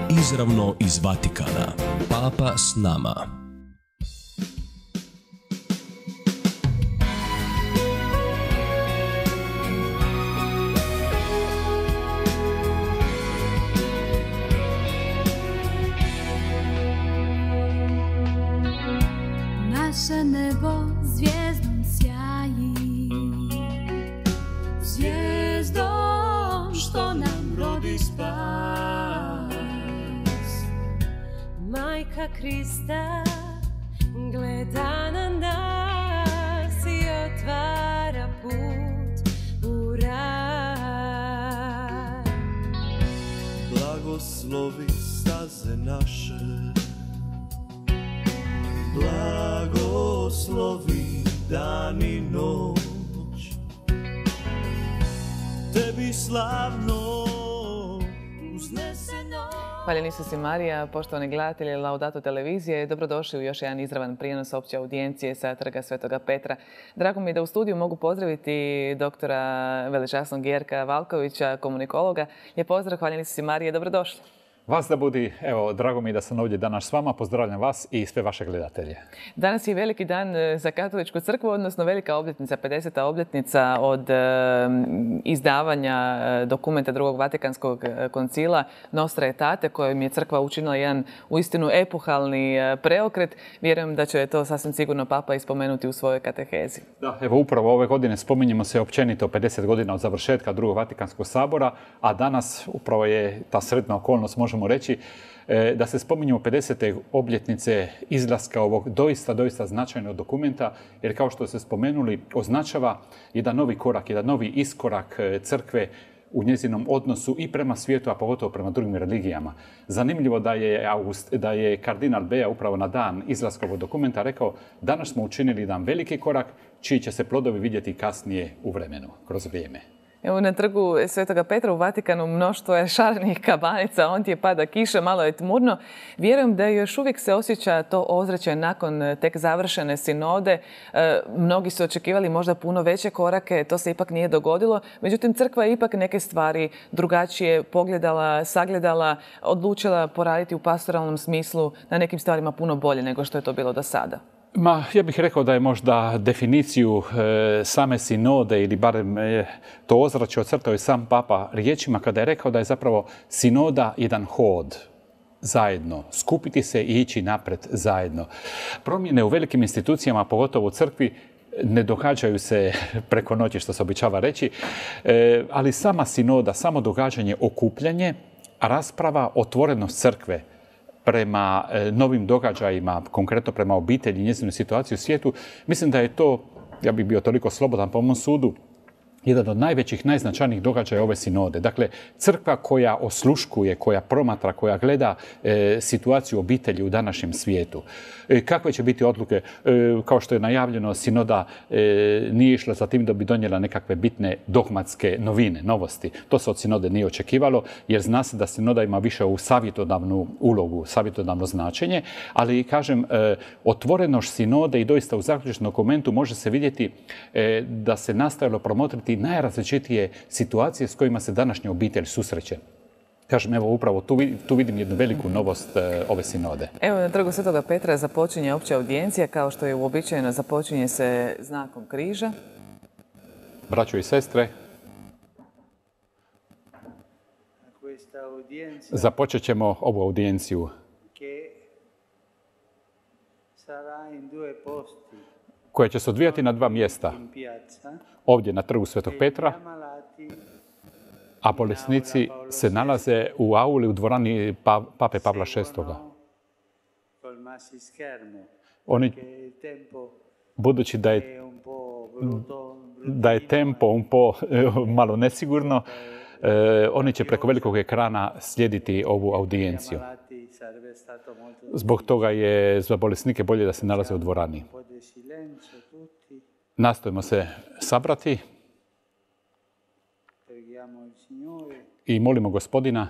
Izravno iz Vatikana. Papa s nama. Naše nebo zvijezdom sjaji, zvijezdom što nam rodi spas. Majka Krista gleda na nas i otvara put u raj. Blagoslovi staze naše, blagoslovi dan i noć, tebi slavno uzneseno. Hvaljen Isus i Marija, poštovani gledatelji Laudato televizije, dobrodošli u još jedan izravan prijenos opće audijencije sa Trga Svetoga Petra. Drago mi je da u studiju mogu pozdraviti doktora velečasnog Jerka Valkovića, komunikologa. Lijep pozdrav, hvaljen Isus i Marija, dobrodošli. Vas da budi, evo, drago mi je da sam ovdje danas s vama, pozdravljam vas i sve vaše gledatelje. Danas je veliki dan za Katoličku crkvu, odnosno velika obljetnica, 50. obljetnica od izdavanja dokumenta Drugog Vatikanskog koncila Nostra Aetate, kojim je crkva učinila jedan uistinu epohalni preokret. Vjerujem da će to sasvim sigurno Papa ispomenuti u svojoj katehezi. Da, evo upravo ove godine spominjemo se općenito 50 godina od završetka Drugog Vatikanskog sabora, a danas upravo je ta sretna okolnost, možemo reći, da se spominjemo 50. obljetnice izlaska ovog doista značajnog dokumenta, jer kao što ste spomenuli, označava jedan novi korak, jedan novi iskorak crkve u njezinom odnosu i prema svijetu, a pogotovo prema drugim religijama. Zanimljivo da je kardinal Bea upravo na dan izlaska ovog dokumenta rekao: danas smo učinili jedan veliki korak, čiji će se plodovi vidjeti kasnije u vremenu, kroz vrijeme. Evo na trgu Svetoga Petra u Vatikanu mnoštvo je šarenih kabanica, ondje pada kiša, malo je tmurno. Vjerujem da još uvijek se osjeća to ozračje nakon tek završene sinode. Mnogi su očekivali možda puno veće korake, to se ipak nije dogodilo. Međutim, crkva je ipak neke stvari drugačije pogledala, sagledala, odlučila poraditi u pastoralnom smislu na nekim stvarima puno bolje nego što je to bilo do sada. Ja bih rekao da je možda definiciju same sinode ili barem to ozračje ocrtao i sam Papa riječima kada je rekao da je zapravo sinoda jedan hod zajedno, skupiti se i ići naprijed zajedno. Promjene u velikim institucijama, pogotovo u crkvi, ne događaju se preko noći, što se običava reći, ali sama sinoda, samo događanje, okupljanje, rasprava, otvorenost crkve prema novim događajima, konkretno prema obitelji i njezinoj situaciji u svijetu, mislim da je to, ja bih bio toliko slobodan po mom sudu, jedan od najvećih, najznačajnijih događaja ove sinode. Dakle, crkva koja osluškuje, koja promatra, koja gleda situaciju obitelji u današnjem svijetu. Kakve će biti odluke? Kao što je najavljeno, sinoda nije išla za tim da bi donijela nekakve bitne dogmatske novine, novosti. To se od sinode nije očekivalo, jer zna se da sinoda ima više u savjetodavnu ulogu, savjetodavno značenje, ali kažem, otvorenost sinode i doista u zaključnom dokumentu može se vidjeti da se nastojalo promotriti najrazličitije situacije s kojima se današnja obitelj susreće. Kažem, evo upravo tu vidim jednu veliku novost ove sinode. Evo na trgu Svetoga Petra započinje opća audijencija, kao što je uobičajeno, započinje se znakom križa. Braćo i sestre, započet ćemo ovu audijenciju koja će se odvijati na dva mjesta. Ovdje na trgu Svetog Petra, a bolesnici se nalaze u auli u dvorani Pape Pavla VI. Oni, budući da je tempo malo nesigurno, oni će preko velikog ekrana slijediti ovu audijenciju. Zbog toga je za bolesnike bolje da se nalaze u dvorani. Nastojimo se sabrati i molimo Gospodina,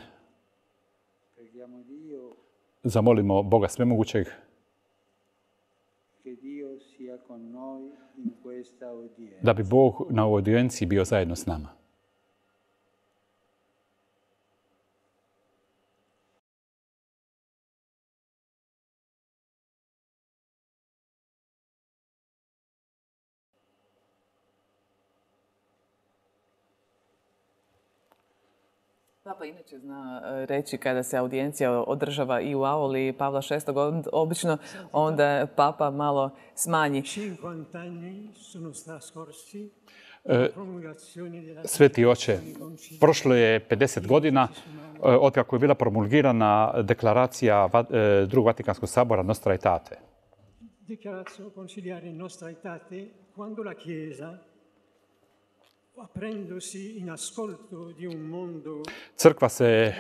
zamolimo Boga Svemogućeg da bi Bog na ovoj audijenciji bio zajedno s nama. Papa inače zna reći kada se audijencija održava i u auli Pavla VI. Obično onda Papa malo smanji. Sveti oče, prošlo je 50 godina otkako je bila promulgirana deklaracija Drugog Vatikanskog sabora Nostra Aetate. Dichiarazione conciliare Nostra Aetate quando la Chiesa, aprendosi in ascolto di un mondo, Crkva se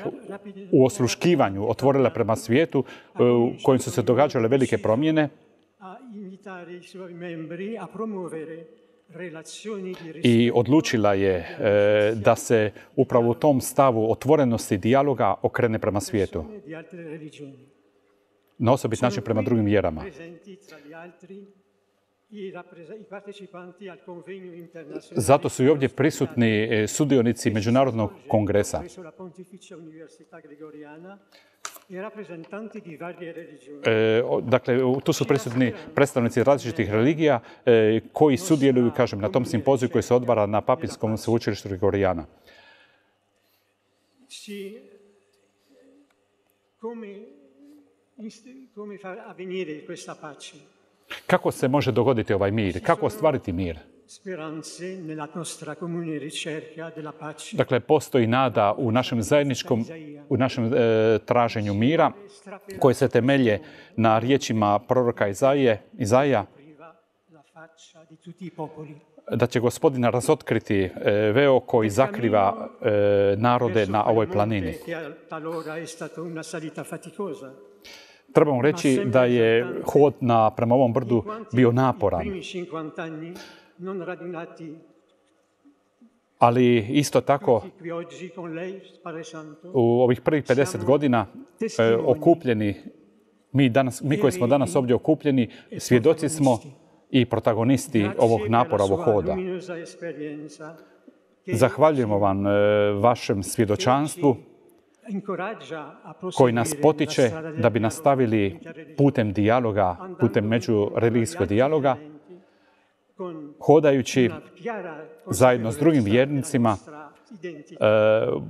u osluškivanju otvorila prema svijetu u kojem su se događale velike promjene a invitare i suoi membri a promuovere relazioni di i odlučila je da se upravo u tom stavu otvorenosti dijaloga okrene prema svijetu. di altre religioni. Na osobit način prema drugim vjerama. Presenti tra gli altri i partecipanti al convegno internazionale. Zato su i ovdje prisutni sudionici Međunarodnog kongresa. Presso la Pontificia Università Gregoriana i rappresentanti di varie religioni. Dakle, tu su prisutni predstavnici različitih religija koji sudjeluju, kažem, na tom simpoziju koji se odvara na Papinskom sveučilištu Gregorijana. Come far avvenire questa pace? Kako se može dogoditi ovaj mir? Kako ostvariti mir? Speranze nella nostra comune ricerca della pace. Dakle, postoji nada u našem zajedničkom, u našem traženju mira, koje se temelje na riječima proroka Izaija, La faccia di tutti i popoli. da će Gospodina razotkriti veo koji zakriva narode na ovoj planini. Talora è stata una salita faticosa. Trebamo reći da je hod prema ovom brdu bio naporan. Primi 50 anni non radunati Ali isto tako qui oggi con lei, Padre Santo. u ovih prvih 50 godina okupljeni, mi koji smo danas ovdje okupljeni, svjedoci smo i protagonisti ovog napora, ovog hoda. Zahvaljujemo vam vašem svjedočanstvu koji nas potiče da bi nastavili putem dijaloga, putem međureligijskog dijaloga, hodajući zajedno s drugim vjernicima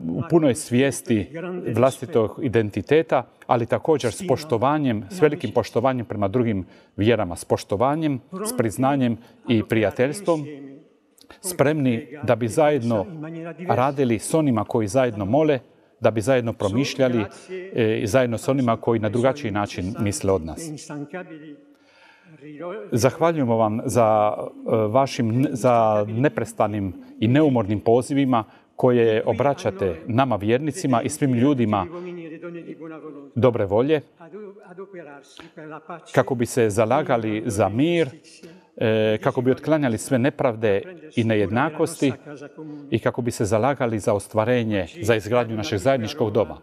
u punoj svijesti vlastitog identiteta, ali također s poštovanjem, s velikim poštovanjem prema drugim vjerama, s poštovanjem, s priznanjem i prijateljstvom, spremni da bi zajedno radili s onima koji zajedno mole, da bi zajedno promišljali zajedno s onima koji na drugačiji način misle od nas. Zahvaljujemo vam za neprestanim i neumornim pozivima koje obraćate nama vjernicima i svim ljudima dobre volje, kako bi se zalagali za mir, kako bi otklanjali sve nepravde i nejednakosti i kako bi se zalagali za ostvarenje, za izgradnju našeg zajedničkog doma.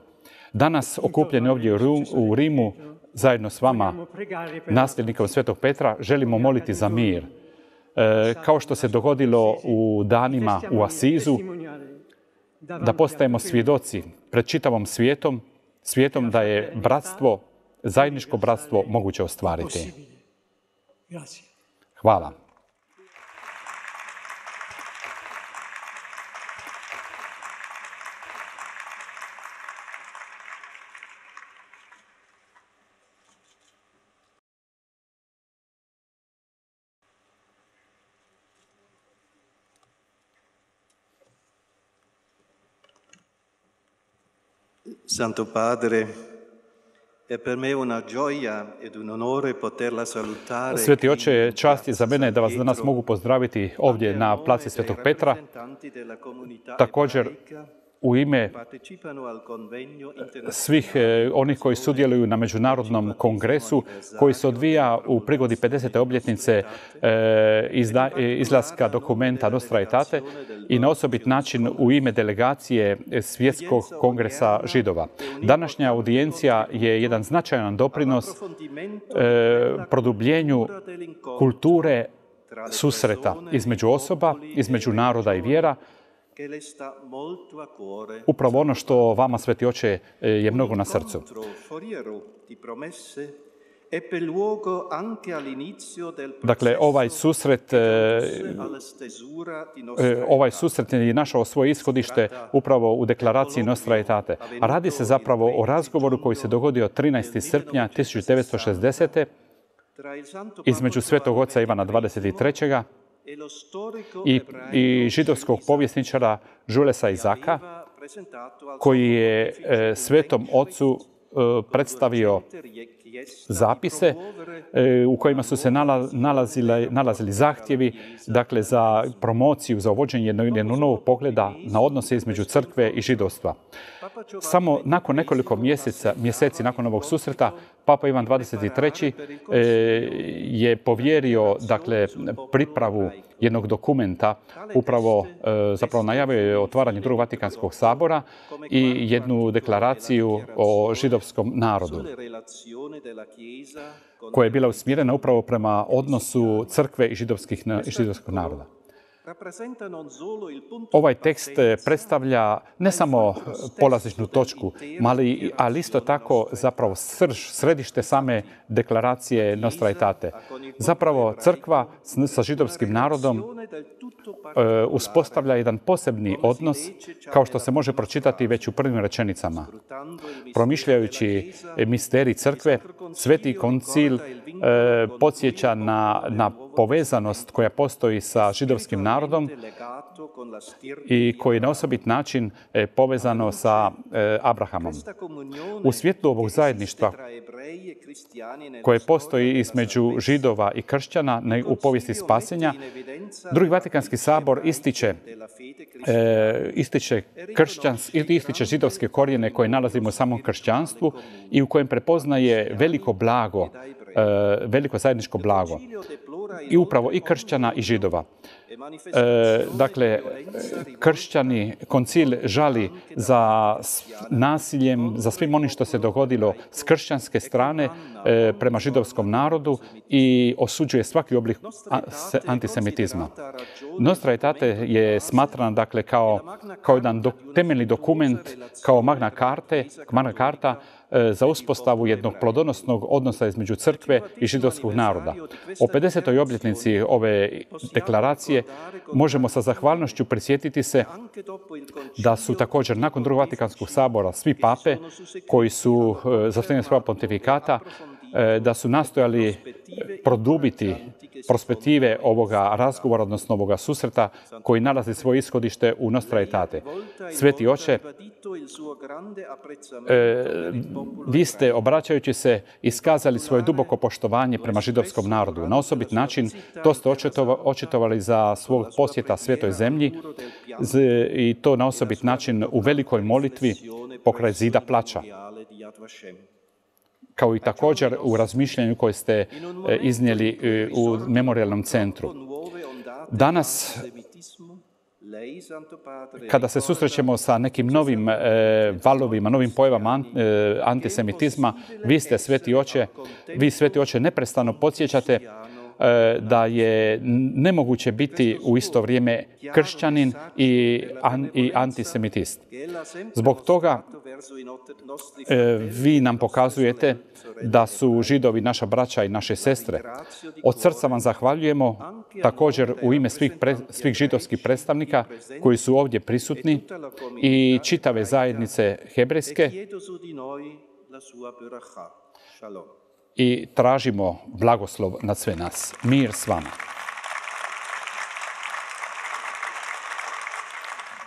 Danas, okupljeni ovdje u Rimu, zajedno s vama, nasljednikom Svetog Petra, želimo moliti za mir. Kao što se dogodilo u danima u Asizu, da postajemo svjedoci pred čitavom svijetom da je bratstvo, zajedničko bratstvo moguće ostvariti. Hvala. Santo Padre, è per me una gioia ed un onore poterla salutare. Sveti oče, čast je za mene da vas danas mogu pozdraviti ovdje na placi Svetog Petra. Također u ime svih onih koji sudjeluju na Međunarodnom kongresu koji se odvija u prigodi 50. obljetnice izlaska dokumenta Nostra Aetate i na osobit način u ime delegacije Svjetskog kongresa židova. Današnja audijencija je jedan značajan doprinos produbljenju kulture susreta između osoba, između naroda i vjera, upravo ono što vama, Sveti oče, je mnogo na srcu. ebbe luogo anche all'inizio del Dakle, ovaj processo susret, alla stesura di Nostra ovaj Aetate. susret je našao svoje ishodište upravo u deklaraciji Nostra Aetate. A radi se zapravo o razgovoru koji se dogodio 13. srpnja 1960. Tra il Santo između Papa Svetog oca Ivana Giovanni 23. e lo storico i ebraico židovskog povjesničara Julesa Izaka, aveva presentato al koji suo je pontefice Svetom ocu predstavio zapise u kojima su se nalazili zahtjevi, dakle, za promociju, za uvođenje jednog novog pogleda na odnose između crkve i židovstva. Samo nakon nekoliko mjeseci nakon ovog susreta, Papa Ivan 23. je povjerio, dakle, pripravu jednog dokumenta, upravo zapravo najavio je otvaranje Drugog Vatikanskog sabora i jednu deklaraciju o židovskom narodu, koja je bila usmjerena upravo prema odnosu crkve i židovskog naroda. Ovaj tekst predstavlja ne samo polazišnu točku, ali isto tako zapravo središte same deklaracije Nostra Aetate. Zapravo crkva sa židovskim narodom uspostavlja jedan posebni odnos, kao što se može pročitati već u prvim rečenicama. Promišljajući misterij crkve, Sveti koncil podsjeća na povezanost koja postoji sa židovskim narodom i koji je na osobit način povezano sa Abrahamom. U svjetlu ovog zajedništva koje postoji između židova i kršćana u povijesti spasenja, Drugi Vatikanski sabor ističe židovske korijene koje nalazimo u samom kršćanstvu i u kojem prepoznaje veliko zajedničko blago. I upravo i kršćana i židova. Dakle, kršćani, koncil žali za nasiljem, za svim onim što se dogodilo s kršćanske strane prema židovskom narodu i osuđuje svaki oblik antisemitizma. Nostra Aetate je smatrana, dakle, kao jedan temeljni dokument, kao Magna Carta za uspostavu jednog plodonosnog odnosa između crkve i židovskog naroda. O 50. obljetnici ove deklaracije možemo sa zahvalnošću prisjetiti se da su također nakon Drugog Vatikanskog sabora svi pape koji su za vrijeme svoja pontifikata da su nastojali produbiti perspektive ovoga razgovora, odnosno ovoga susreta koji nalazi svoje ishodište u Nostra Aetate. Sveti oče, vi ste, obraćajući se, iskazali svoje duboko poštovanje prema židovskom narodu. Na osobit način to ste očitovali za svog posjeta Svetoj zemlji i to na osobit način u velikoj molitvi pokraj zida plača, kao i također u razmišljanju koje ste iznijeli u memorijalnom centru. Danas, kada se susrećemo sa nekim novim valovima, novim pojavama antisemitizma, vi, Sveti Oče, neprestano podsjećate da je nemoguće biti u isto vrijeme kršćanin i antisemitist. Zbog toga vi nam pokazujete da su Židovi naša braća i naše sestre. Od srca vam zahvaljujemo također u ime svih židovskih predstavnika koji su ovdje prisutni i čitave zajednice hebrejske i tražimo blagoslov nad sve nas. Mir s vama.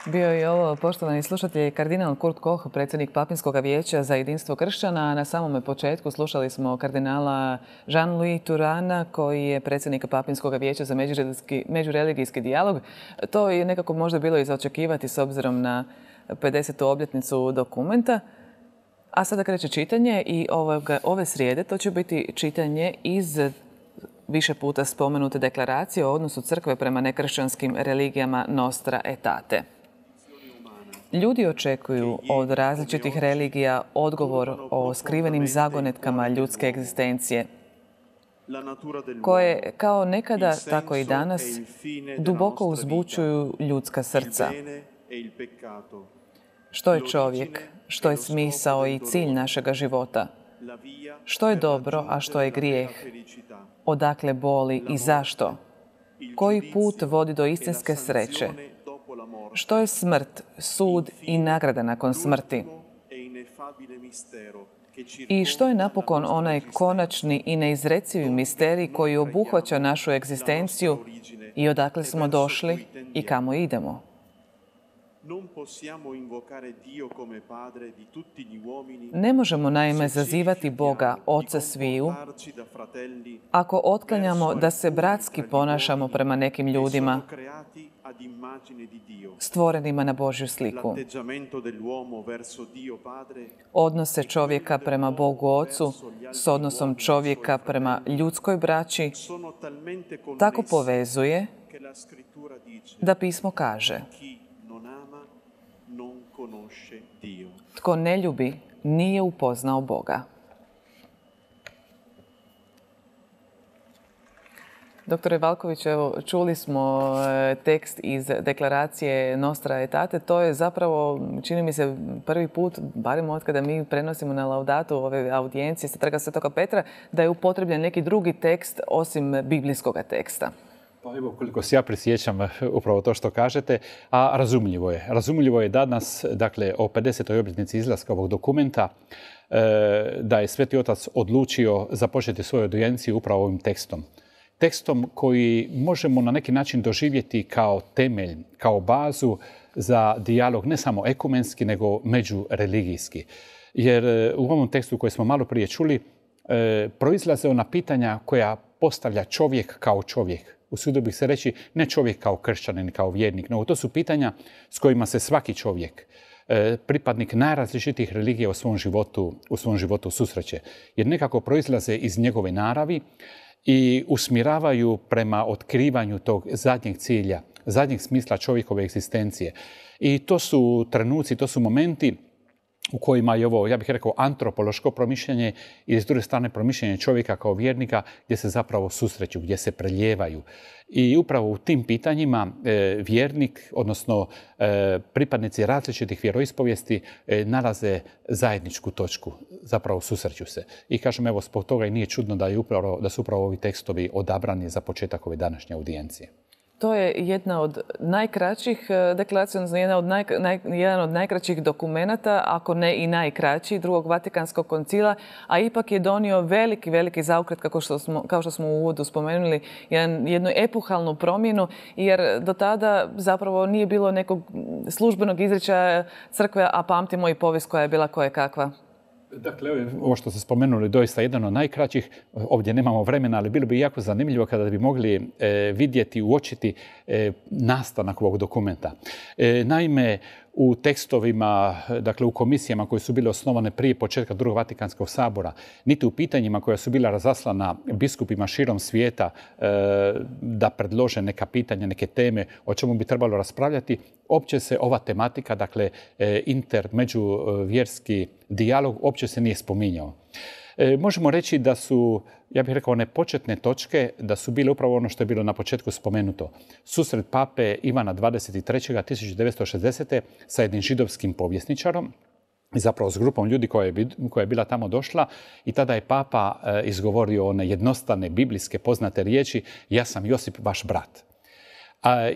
Bio je ovo, poštovani slušatelji, kardinal Kurt Koch, predsjednik Papinskog vijeća za jedinstvo kršćana. Na samome početku slušali smo kardinala Jean-Louis Turana, koji je predsjednik Papinskog vijeća za međureligijski dijalog. To je nekako možda bilo i za očekivati s obzirom na 50. obljetnicu dokumenta. A sada kreće čitanje i ove srijede to će biti čitanje iz više puta spomenute deklaracije o odnosu crkve prema nekršćanskim religijama Nostra Aetate. Ljudi očekuju od različitih religija odgovor o skrivenim zagonetkama ljudske egzistencije, koje kao nekada, tako i danas, duboko uzbučuju ljudska srca. Što je čovjek? Što je smisao i cilj našega života? Što je dobro, a što je grijeh? Odakle boli i zašto? Koji put vodi do istinske sreće? Što je smrt, sud i nagrada nakon smrti? I što je napokon onaj konačni i neizrecivi misterij koji obuhvaća našu egzistenciju i odakle smo došli i kamo idemo? Ne možemo naime zazivati Boga, Oca sviju, ako otklanjamo da se bratski ponašamo prema nekim ljudima, stvorenima na Božju sliku. Odnose čovjeka prema Bogu Ocu s odnosom čovjeka prema ljudskoj braći tako povezuje da pismo kaže: tko ne ljubi, nije upoznao Boga. Doktore Valković, evo, čuli smo tekst iz deklaracije Nostra Aetate. To je zapravo, čini mi se, prvi put, barem od kada mi prenosimo na laudatu ove audijencije sa Trga Svetoga Petra, da je upotrebljen neki drugi tekst osim biblijskog teksta. Pa evo, koliko se ja prisjećam upravo to što kažete, a razumljivo je. Razumljivo je danas, dakle, o 50. obljetnici izlaska ovog dokumenta, da je Sveti Otac odlučio započeti svoju audijenciju upravo ovim tekstom. Tekstom koji možemo na neki način doživjeti kao temelj, kao bazu za dijalog ne samo ekumenski, nego međureligijski. Jer u ovom tekstu koji smo malo prije čuli, proizlaze ona pitanja koja postavlja čovjek kao čovjek. Usudio bih se reći, ne čovjek kao kršćanin, kao vjernik, nego to su pitanja s kojima se svaki čovjek, pripadnik najrazličitijih religija u svom životu susreće. Jer nekako proizlaze iz njegove naravi i usmjeravaju prema otkrivanju tog zadnjeg cilja, zadnjeg smisla čovjekove egzistencije. I to su trenuci, to su momenti u kojima je ovo, ja bih rekao, antropološko promišljanje i s druge strane promišljanje čovjeka kao vjernika gdje se zapravo susreću, gdje se preljevaju. I upravo u tim pitanjima vjernik, odnosno pripadnici različitih vjeroispovijesti nalaze zajedničku točku, zapravo susreću se. I kažem, evo, zbog toga i nije čudno da su upravo ovi tekstovi odabrani za početak ove današnje audijencije. To je jedna od najkraćih deklaracija, odnosno jedan od najkraćih dokumenata, ako ne i najkraći, Drugog Vatikanskog koncila, a ipak je donio veliki zaokret, kao što smo u uvodu spomenuli, jednu epohalnu promjenu, jer do tada zapravo nije bilo nekog službenog izričaja crkve, a pamtimo i povijest koja je bila kojekakva. Dakle, ovo što ste spomenuli, doista jedan od najkraćih. Ovdje nemamo vremena, ali bilo bi jako zanimljivo kada bi mogli vidjeti, uočiti nastanak ovog dokumenta. Naime, u tekstovima, dakle u komisijama koje su bile osnovane prije početka Drugog Vatikanskog sabora, niti u pitanjima koja su bila razaslana biskupima širom svijeta da predlože neka pitanja, neke teme o čemu bi trebalo raspravljati, opće se ova tematika, dakle međuvjerski dijalog, opće se nije spominjao. Možemo reći da su, ja bih rekao, one početne točke, da su bile upravo ono što je bilo na početku spomenuto. Susret pape Ivana 23. 1960. sa jednim židovskim povjesničarom, zapravo s grupom ljudi koja je bila tamo došla, i tada je papa izgovorio one jednostavne biblijske poznate riječi: ja sam Josip, vaš brat.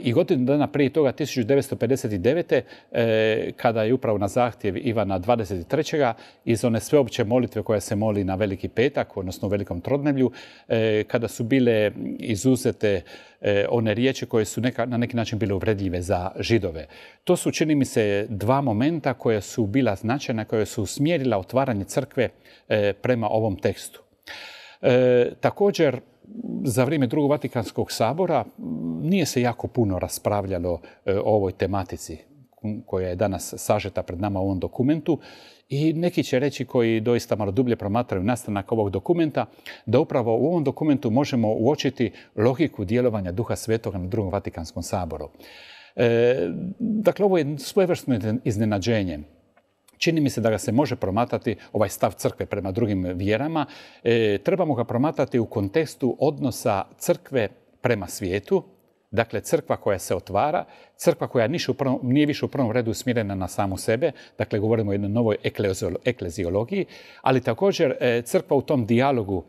I godinu dana prije toga, 1959. Kada je upravo na zahtjev Ivana 23. iz one sveopće molitve koja se moli na Veliki petak, odnosno u Velikom trodnevlju, kada su bile izuzete one riječi koje su na neki način bile uvredljive za Židove. To su, čini mi se, dva momenta koja su bila značajna, koja su usmjerila otvaranje crkve prema ovom tekstu. Također, za vrijeme Drugog Vatikanskog sabora nije se jako puno raspravljalo o ovoj tematici koja je danas sažeta pred nama u ovom dokumentu, i neki će reći, koji doista malo dublje promatraju nastanak ovog dokumenta, da upravo u ovom dokumentu možemo uočiti logiku djelovanja Duha Svetoga na Drugom Vatikanskom saboru. Dakle, ovo je svojevrsno iznenađenje. Čini mi se da ga se može promatrati, ovaj stav crkve prema drugim vjerama. Trebamo ga promatrati u kontekstu odnosa crkve prema svijetu, Dakle, crkva koja se otvara, crkva koja nije više u prvom redu usmjerena na samu sebe, dakle, govorimo o jednoj novoj ekleziologiji, ali također crkva u tom dijalogu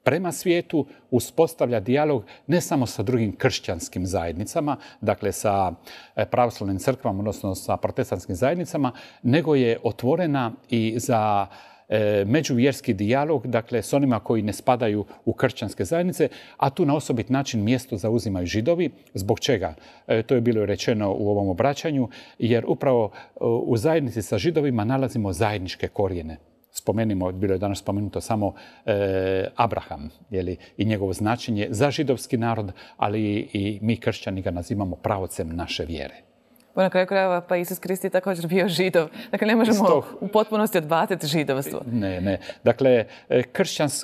prema svijetu uspostavlja dijalog ne samo sa drugim kršćanskim zajednicama, dakle sa pravoslavnim crkvama, odnosno sa protestantskim zajednicama, nego je otvorena i za međuvjerski dijalog, dakle s onima koji ne spadaju u kršćanske zajednice, a tu na osobit način mjesto zauzimaju Židovi. Zbog čega? To je bilo rečeno u ovom obraćanju, jer upravo u zajednici sa Židovima nalazimo zajedničke korijene. Spomenimo, bilo je danas spomenuto samo Abraham i njegovo značenje za židovski narod, ali i mi kršćani ga nazivamo pravocem naše vjere. Na kraju krajeva pa Isus Krist je također bio Židov. Dakle, ne možemo u potpunosti odbaciti židovstvo. Ne. Dakle,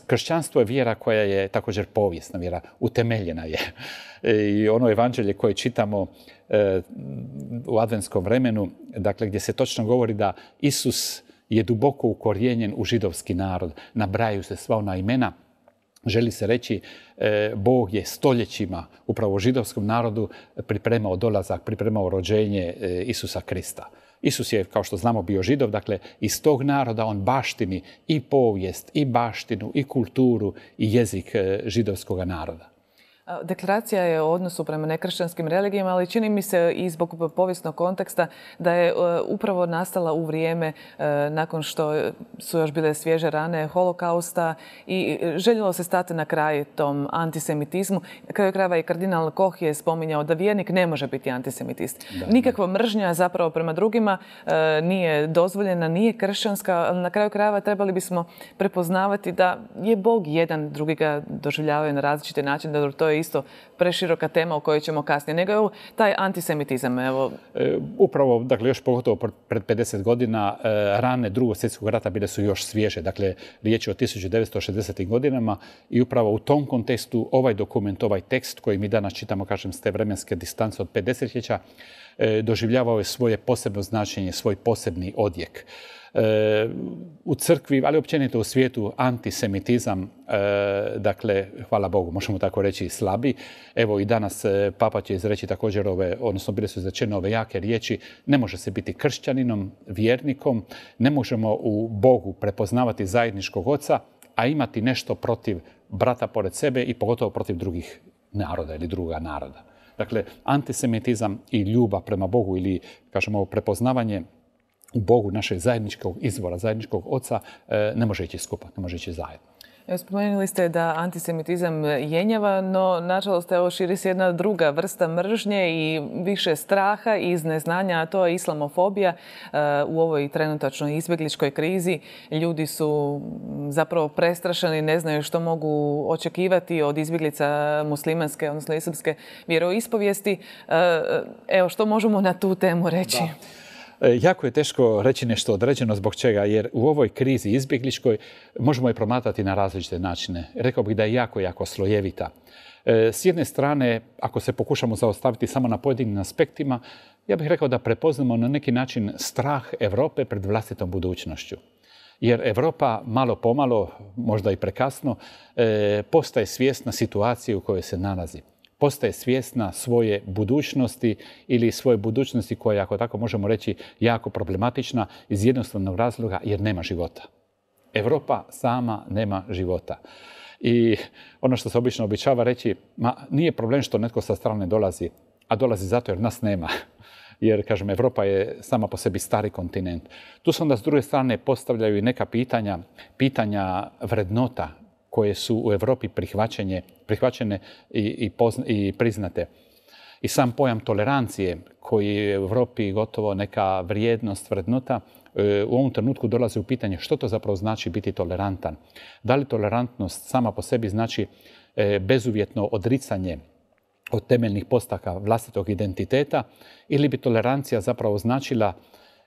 kršćanstvo je vjera koja je također povijesna vjera, utemeljena je. I ono evanđelje koje čitamo u adventskom vremenu, dakle, gdje se točno govori da Isus je duboko ukorijenjen u židovski narod. Nabrajaju se sva ona imena. Želi se reći, Bog je stoljećima upravo židovskom narodu pripremao dolazak, pripremao rođenje Isusa Krista. Isus je, kao što znamo, bio Židov, dakle, iz tog naroda on baštini i povijest, i baštinu, i kulturu, i jezik židovskog naroda. Deklaracija je o odnosu prema nekršćanskim religijama, ali čini mi se i zbog povijesnog konteksta da je upravo nastala u vrijeme nakon što su još bile svježe rane holokausta i željelo se stati na kraj tom antisemitizmu. Na kraju krajeva i kardinal Koch je spominjao da vjernik ne može biti antisemitist. Nikakva mržnja zapravo prema drugima nije dozvoljena, nije kršćanska, ali na kraju krajeva trebali bismo prepoznavati da je Bog jedan, drugi ga doživljavaju na različite načine, da to je isto preširoka tema o kojoj ćemo kasnije, nego je taj antisemitizam. Upravo, dakle, još pogotovo pred 50 godina rane Drugog svjetskog rata bile su još svježe. Dakle, riječ je o 1960. godinama i upravo u tom kontekstu ovaj dokument, ovaj tekst koji mi danas čitamo, kažem, s te vremenske distance od 5 desetljeća, doživljavao je svoje posebno značenje, svoj posebni odjek. U crkvi, ali općenito u svijetu, antisemitizam, dakle, hvala Bogu, možemo tako reći, slabi. Evo i danas Papa će izreći također odnosno bile su izrečene ove jake riječi, ne može se biti kršćaninom, vjernikom, ne možemo u Bogu prepoznavati zajedničkog oca, a imati nešto protiv brata pored sebe i pogotovo protiv drugih naroda ili druga naroda. Dakle, antisemitizam i ljubav prema Bogu ili, kažemo, prepoznavanje u Bogu našeg zajedničkog izvora, zajedničkog oca, ne može ići skupa, ne može ići zajedno. Spomenuli ste da antisemitizam jenjava, no nažalost evo širi se jedna druga vrsta mržnje i više straha iz neznanja, a to je islamofobija. U ovoj trenutačnoj izbjegličkoj krizi ljudi su zapravo prestrašeni, ne znaju što mogu očekivati od izbjeglica muslimanske, odnosno islamske vjeroispovijesti. Evo, što možemo na tu temu reći? Jako je teško reći nešto određeno, zbog čega, jer u ovoj krizi izbjegličkoj možemo je promatrati na različite načine. Rekao bih da je jako slojevita. S jedne strane, ako se pokušamo zaustaviti samo na pojedinim aspektima, ja bih rekao da prepoznamo na neki način strah Europe pred vlastitom budućnošću. Jer Europa malo pomalo, možda i prekasno, postaje svjesna situacije u kojoj se nalazi. Postaje svjesna svoje budućnosti ili svoje budućnosti koja je, ako tako možemo reći, jako problematična iz jednostavnog razloga jer nema života. Europa sama nema života. I ono što se obično običava reći, nije problem što netko sa strane dolazi, a dolazi zato jer nas nema. Jer, kažem, Europa je sama po sebi stari kontinent. Tu se onda s druge strane postavljaju i neka pitanja vrednota koje su u Europi prihvaćene i priznate. I sam pojam tolerancije, koji je u Europi gotovo neka vrijednost, vrednota, u ovom trenutku dolazi u pitanje što to zapravo znači biti tolerantan. Da li tolerantnost sama po sebi znači bezuvjetno odricanje od temeljnih postaka vlastitog identiteta ili bi tolerancija zapravo značila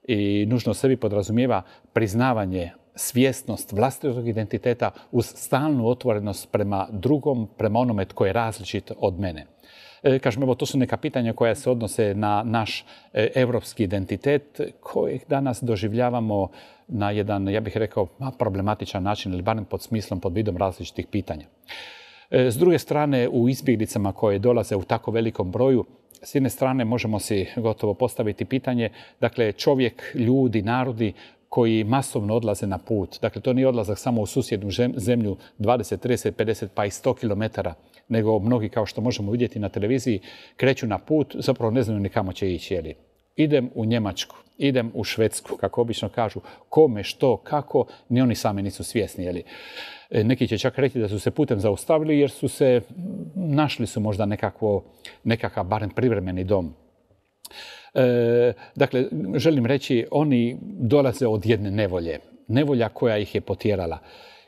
i nužno sebi podrazumijeva priznavanje, svjesnost vlastitog identiteta uz stalnu otvorenost prema drugom, prema onome tko je različit od mene. Kažem, evo, to su neka pitanja koja se odnose na naš europski identitet kojeg danas doživljavamo na jedan, ja bih rekao, problematičan način ili barem pod smislom, pod vidom različitih pitanja. S druge strane, u izbjeglicama koje dolaze u tako velikom broju, s jedne strane možemo si gotovo postaviti pitanje, dakle čovjek, ljudi, narodi koji masovno odlaze na put. Dakle, to nije odlazak samo u susjednu zemlju 20, 30, 50 pa i 100 km, nego mnogi, kao što možemo vidjeti na televiziji, kreću na put, zapravo ne znaju ni kamo će ići. Jeli. Idem u Njemačku, idem u Švedsku, kako obično kažu, kome, što, kako, ni oni sami nisu svjesni. Jeli. Neki će čak reći da su se putem zaustavili jer su se, našli su možda nekakav barem privremeni dom. Dakle, želim reći, oni dolaze od jedne nevolje. Nevolja koja ih je potjerala.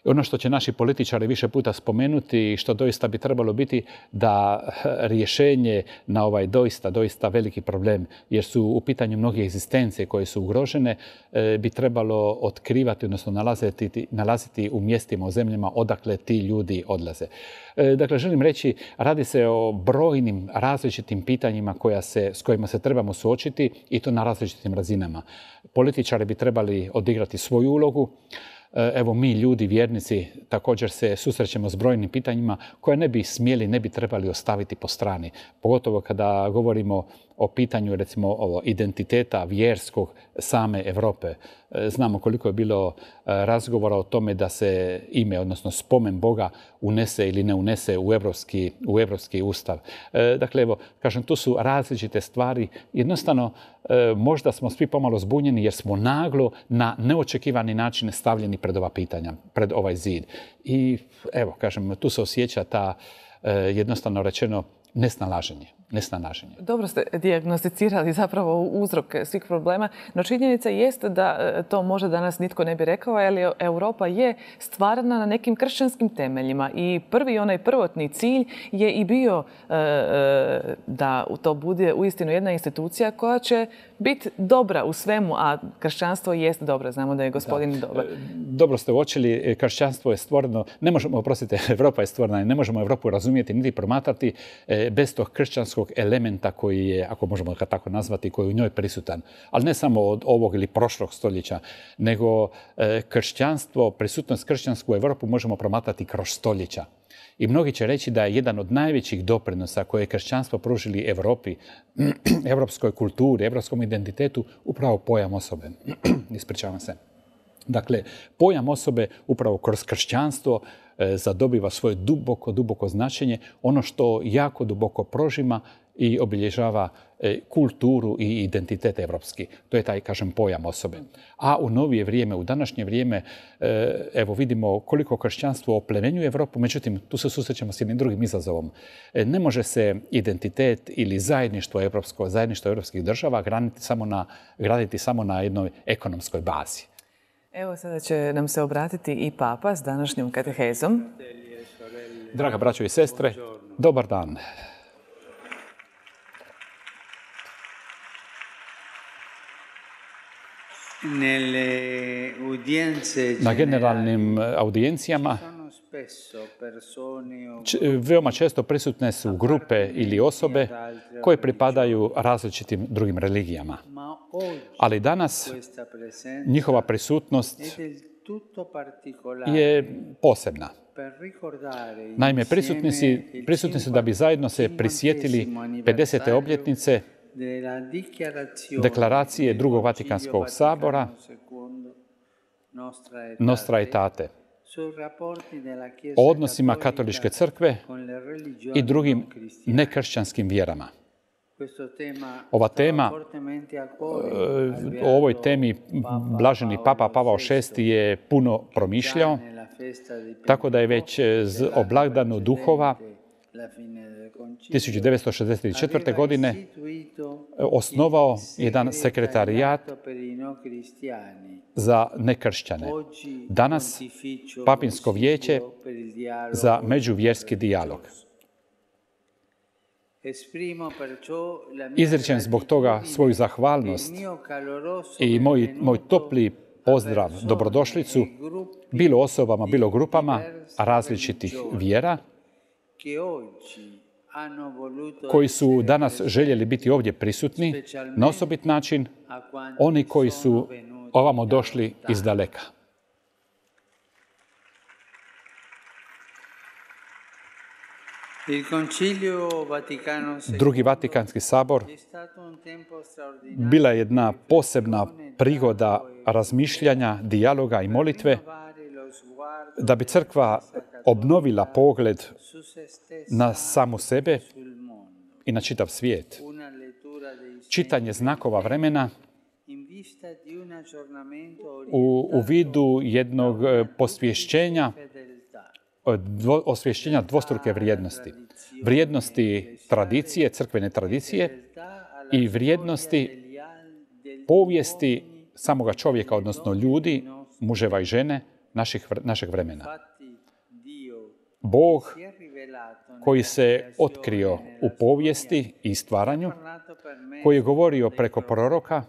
Ono što će naši političari više puta spomenuti i što doista bi trebalo biti da rješenje na ovaj doista veliki problem, jer su u pitanju mnoge egzistencije koje su ugrožene, bi trebalo otkrivati, odnosno nalaziti u mjestima, u zemljama odakle ti ljudi odlaze. Dakle, želim reći, radi se o brojnim različitim pitanjima s kojima se trebamo suočiti i to na različitim razinama. Političari bi trebali odigrati svoju ulogu. Evo mi ljudi, vjernici, također se susrećemo s brojnim pitanjima koje ne bi trebali ostaviti po strani. Pogotovo kada govorimo o pitanju, recimo, identiteta vjerskog same Europe. Znamo koliko je bilo razgovora o tome da se ime, odnosno spomen Boga, unese ili ne unese u Europski ustav. Dakle, evo, kažem, tu su različite stvari. Jednostavno, možda smo svi pomalo zbunjeni jer smo naglo na neočekivani način stavljeni pred ova pitanja, pred ovaj zid. I evo, kažem, tu se osjeća ta, jednostavno rečeno, nesnalaženje. Dobro ste dijagnosticirali zapravo uzrok svih problema, no činjenica jest da to možda danas nitko ne bi rekao, ali Europa je stvarana na nekim kršćanskim temeljima i onaj prvotni cilj je i bio da to bude uistinu jedna institucija koja će biti dobra u svemu, a kršćanstvo jest dobro. Znamo da je gospodin dobar. Dobro ste uočili, kršćanstvo je stvoreno, Europa je stvorena i ne možemo Europu razumjeti niti promatrati bez tog kršćanskog elementa koji je, ako možemo ga tako nazvati, koji je u njoj prisutan. Ali ne samo od ovog ili prošlog stoljeća, nego prisutnost kršćansku u Europu možemo promatrati kroz stoljeća. I mnogi će reći da je jedan od najvećih doprinosa koje je kršćanstvo pružili Europi, europskoj kulturi, europskom identitetu, upravo pojam osobe. Ispričavam se. Dakle, pojam osobe upravo kroz kršćanstvo zadobiva svoje duboko značenje, ono što jako duboko prožima i obilježava kulturu i identitet evropski. To je taj, kažem, pojam osobe. A u novije vrijeme, u današnje vrijeme, evo vidimo koliko kršćanstvo oplemenjuje Europu, međutim, tu se susrećemo s jednim drugim izazovom. Ne može se identitet ili zajedništvo europskih država graditi samo na jednoj ekonomskoj bazi. Evo, sada će nam se obratiti i Papa s današnjom katehezom. Draga braćo i sestre, dobar dan. Na generalnim audijencijama veoma često prisutne su grupe ili osobe koje pripadaju različitim drugim religijama. Ali danas njihova prisutnost je posebna. Naime, prisutni su da bi zajedno se prisjetili 50. obljetnice deklaracije Drugog Vatikanskog sabora Nostra Aetate o odnosima katoličke crkve i drugim nekršćanskim vjerama. Ova tema, o ovoj temi blaženi Papa Pavao VI je puno promišljao, tako da je već o blagdanu duhova 1964. godine osnovao jedan sekretarijat za nekršćane. Danas Papinsko vijeće za međuvjerski dijalog. Izričem zbog toga svoju zahvalnost i moj topli pozdrav, dobrodošlicu, bilo osobama, bilo grupama različitih vjera, koji su danas željeli biti ovdje prisutni na osobit način, oni koji su ovamo došli iz daleka. Drugi Vatikanski sabor bila je jedna posebna prigoda razmišljanja, dijaloga i molitve da bi crkva obnovila pogled na samu sebe i na čitav svijet. Čitanje znakova vremena u vidu jednog osvješćenja dvostruke vrijednosti. Vrijednosti tradicije, crkvene tradicije i vrijednosti povijesti samoga čovjeka, odnosno ljudi, muževa i žene našeg vremena. Bog koji se otkrio u povijesti i stvaranju, koji je govorio preko proroka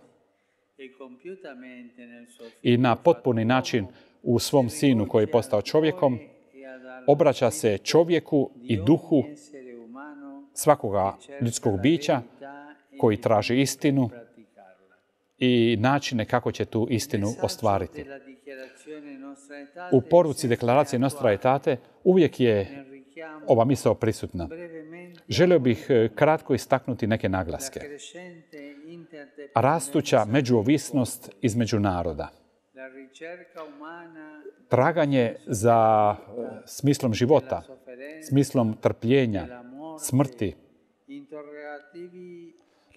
i na potpuni način u svom sinu koji je postao čovjekom, obraća se čovjeku i duhu svakoga ljudskog bića koji traži istinu i načine kako će tu istinu ostvariti. U poruci deklaracije Nostra Aetate uvijek je ova misao prisutna. Želio bih kratko istaknuti neke naglaske. Rastuća međuovisnost između naroda. Traganje za smislom života, smislom trpljenja, smrti.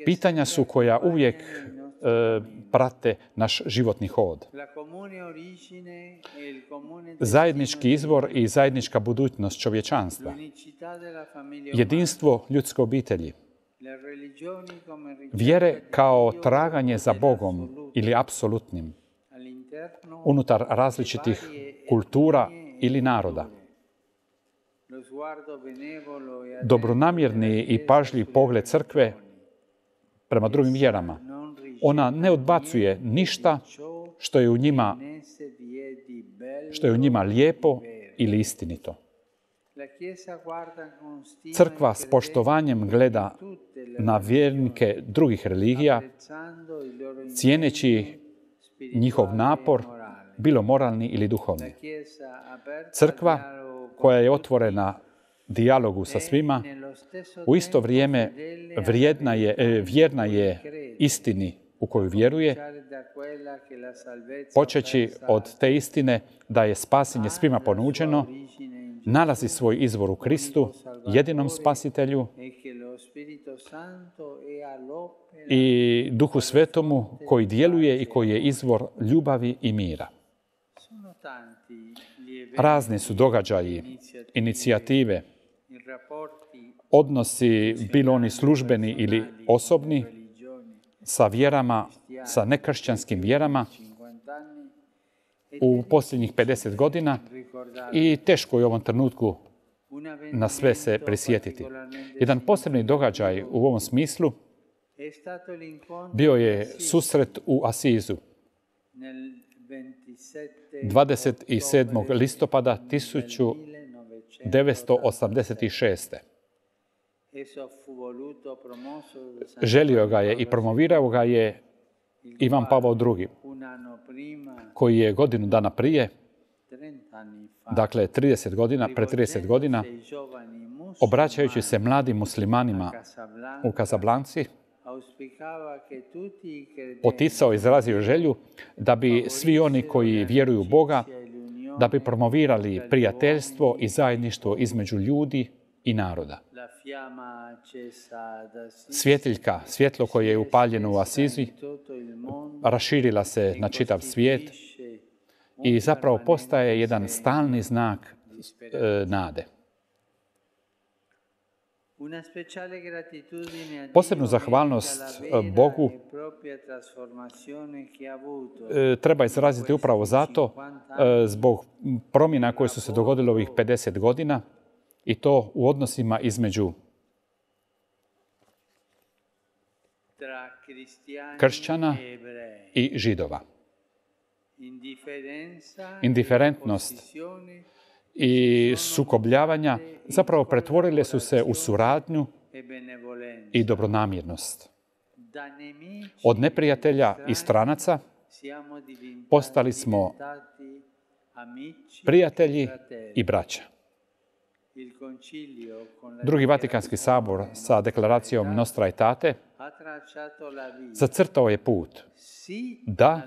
Pitanja su koja uvijek prate naš životni hod. Zajednički izvor i zajednička budućnost čovječanstva. Jedinstvo ljudske obitelji. Vjere kao traganje za Bogom ili apsolutnim unutar različitih kultura ili naroda. Dobronamjerni i pažljiv pogled crkve prema drugim vjerama. Ona ne odbacuje ništa što je u njima lijepo ili istinito. Crkva s poštovanjem gleda na vjernike drugih religija, cijeneći njihov napor, bilo moralni ili duhovni. Crkva koja je otvorena dijalogu sa svima, u isto vrijeme vjerna je istini u koju vjeruje, počeći od te istine da je spasenje svima ponuđeno, nalazi svoj izvor u Kristu, jedinom spasitelju i Duhu Svetomu koji djeluje i koji je izvor ljubavi i mira. Razni su događaji, inicijative, odnosi, bilo oni službeni ili osobni, sa vjerama, sa nekršćanskim vjerama u posljednjih 50 godina i teško je u ovom trenutku na sve se prisjetiti. Jedan posebni događaj u ovom smislu bio je susret u Asizu 27. listopada 1986. Želio ga je i promovirao ga je Ivan Pavao II, koji je godinu dana prije, dakle pred 30 godina, obraćajući se mladim muslimanima u Casablanci, poticao, izrazio želju da bi svi oni koji vjeruju u Boga, da bi promovirali prijateljstvo i zajedništvo između ljudi i naroda. Svjetiljka, svjetlo koje je upaljeno u Asizi, raširila se na čitav svijet i zapravo postaje jedan stalni znak nade. Posebnu zahvalnost Bogu treba izraziti upravo zato zbog promjena koje su se dogodile ovih 50 godina i to u odnosima između kršćana i židova. Indiferentnost i sukobljavanja zapravo pretvorile su se u suradnju i dobronamjernost. Od neprijatelja i stranaca postali smo prijatelji i braća. Drugi Vatikanski sabor sa deklaracijom Nostra Aetate zacrtao je put da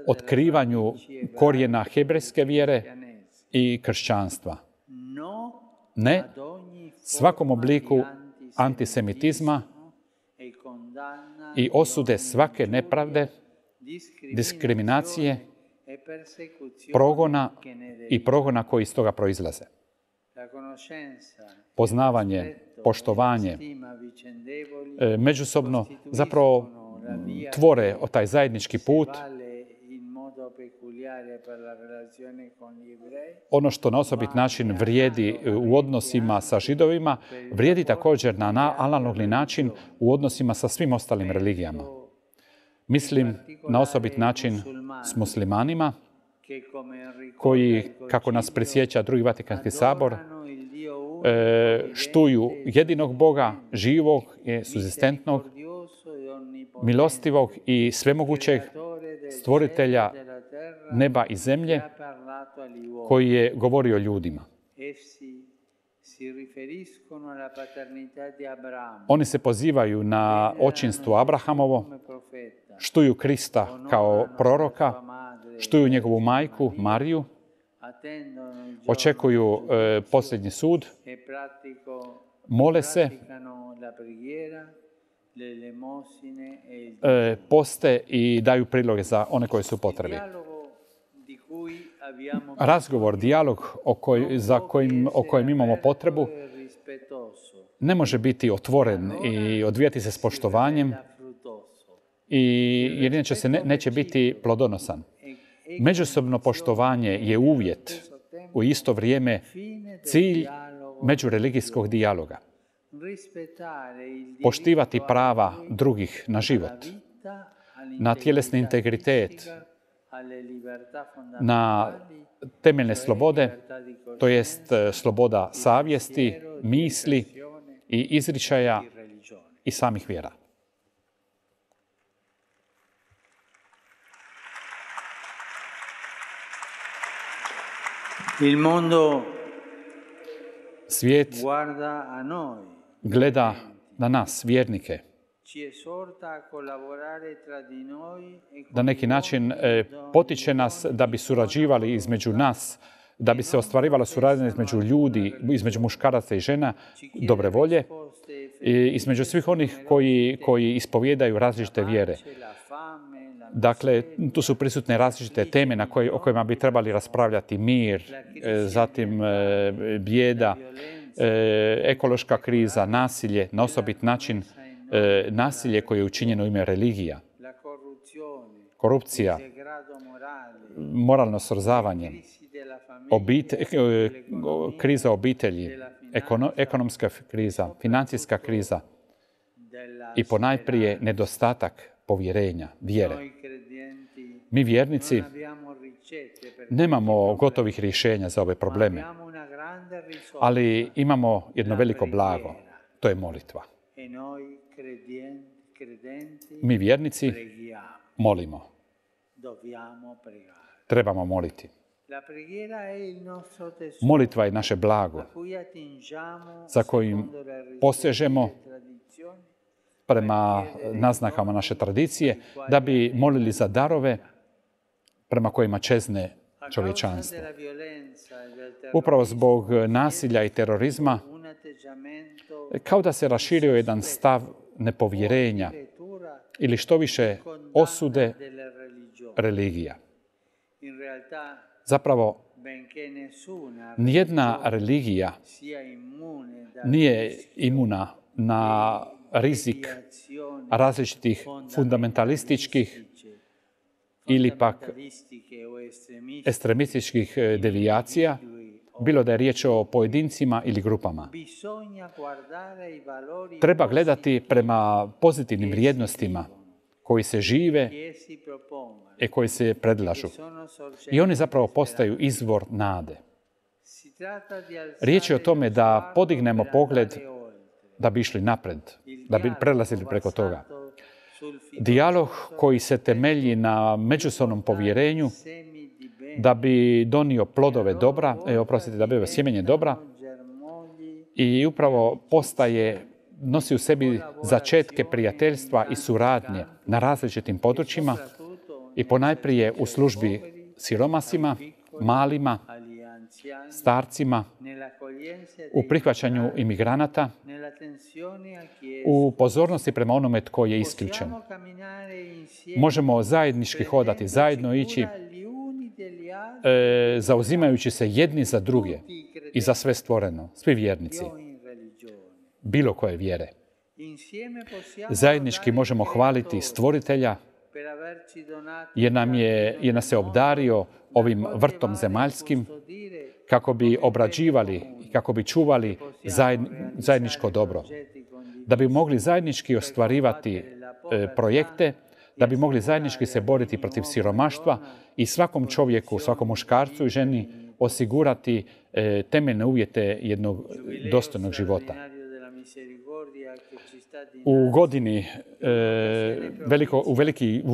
otkrivanju korijena hebrejske vjere i kršćanstva. Ne svakom obliku antisemitizma i osude svake nepravde, diskriminacije, progona koji iz toga proizlaze. Poznavanje, poštovanje, međusobno zapravo tvore taj zajednički put. Ono što na osobit način vrijedi u odnosima sa Židovima, vrijedi također na analogni način u odnosima sa svim ostalim religijama. Mislim na osobit način s muslimanima, koji, kako nas prisjeća Drugi Vatikanski sabor, štuju jedinog Boga, živog, suzistentnog, milostivog i svemogućeg stvoritelja neba i zemlje, koji je govorio ljudima. Oni se pozivaju na očinstvo Abrahamovo, štuju Krista kao proroka, štuju njegovu majku Mariju, očekuju posljednji sud, mole se, poste i daju priloge za one koji su potrebi. Razgovor, dijalog o kojem imamo potrebu ne može biti otvoren i odvijati se s poštovanjem, jer inače se neće biti plodonosan. Međusobno poštovanje je uvjet, u isto vrijeme cilj međureligijskog dijaloga. Poštivati prava drugih na život, na tjelesni integritet, na temeljne slobode, to jest sloboda savjesti, misli i izričaja i samih vjera. Svijet gleda na nas, vjernike, na neki način potiče nas da bi surađivali između nas, da bi se ostvarivala suradnja između ljudi, između muškaraca i žena, dobre volje, i između svih onih koji ispovijedaju različite vjere. Dakle, tu su prisutne različite teme o kojima bi trebali raspravljati: mir, zatim bijeda, ekološka kriza, nasilje, na osobit način nasilje koje je učinjeno u ime religija, korupcija, moralno srozavanje, kriza obitelji, ekonomska kriza, financijska kriza i ponajprije nedostatak povjerenja, vjere. Mi vjernici nemamo gotovih rješenja za ove probleme, ali imamo jedno veliko blago, to je molitva. Mi vjernici molimo. Trebamo moliti. Molitva je naše blago za kojim posežemo prema naznakama naše tradicije, da bi molili za darove prema kojima čezne čovječanstvo. Upravo zbog nasilja i terorizma, kao da se raširio jedan stav nepovjerenja ili što više osude religija. Zapravo, nijedna religija nije imuna na rizik različitih fundamentalističkih ili pak ekstremističkih devijacija, bilo da je riječ o pojedincima ili grupama. Treba gledati prema pozitivnim vrijednostima koji se žive i koji se predlažu. I oni zapravo postaju izvor nade. Riječ je o tome da podignemo pogled da bi išli napred, da bi prelazili preko toga. Dijalog koji se temelji na međusobnom povjerenju da bi donio plodove dobra, da bi sjemenje dobra i upravo nosi u sebi začetke prijateljstva i suradnje na različitim područjima i ponajprije u službi siromasima, malima, starcima, u prihvaćanju imigranata, u pozornosti prema onome tko je isključen. Možemo zajednički hodati, zajedno ići, zauzimajući se jedni za druge i za sve stvoreno, svi vjernici, bilo koje vjere. Zajednički možemo hvaliti Stvoritelja jer nas je obdario ovim vrtom zemaljskim kako bi obrađivali i kako bi čuvali zajedničko dobro. Da bi mogli zajednički ostvarivati projekte, da bi mogli zajednički se boriti protiv siromaštva i svakom čovjeku, svakom muškarcu i ženi osigurati temeljne uvjete jednog dostojnog života. U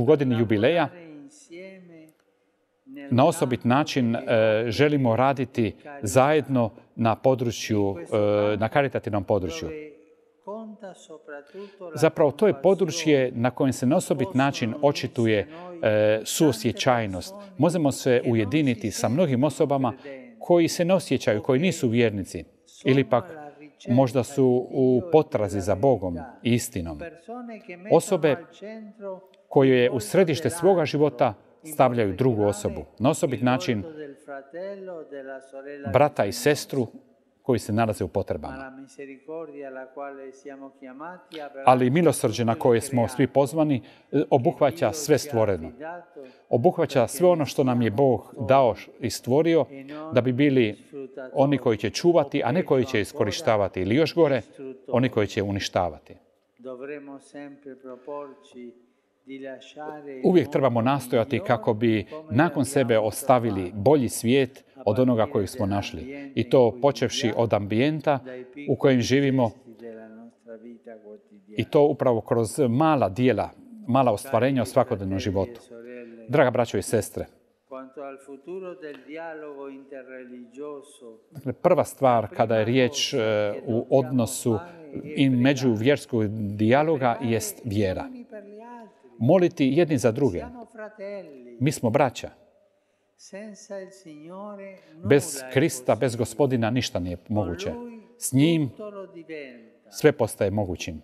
godini jubileja na osobit način želimo raditi zajedno na karitativnom području. Zapravo to je područje na kojem se na osobit način očituje suosjećajnost. Možemo se ujediniti sa mnogim osobama koji se ne osjećaju, koji nisu vjernici ili pak možda su u potrazi za Bogom i istinom. Osobe koje u središte svoga života stavljaju drugu osobu. Na osobit način brata i sestru koji se nalaze u potrebama. Ali milosrđe na koje smo svi pozvani obuhvaća sve stvoreno. Obuhvaća sve ono što nam je Bog dao i stvorio da bi bili oni koji će čuvati, a ne koji će iskorištavati. Ili još gore, oni koji će uništavati. Uvijek trebamo nastojati kako bi nakon sebe ostavili bolji svijet od onoga kojeg smo našli. I to počevši od ambijenta u kojem živimo i to upravo kroz mala djela, mala ostvarenja u svakodnevnom životu. Draga braćo i sestre, dakle, prva stvar kada je riječ u odnosu i međuvjerskog dijaloga jest vjera. Moliti jedni za druge. Mi smo braća. Bez Krista, bez Gospodina ništa nije moguće. S njim sve postaje mogućim.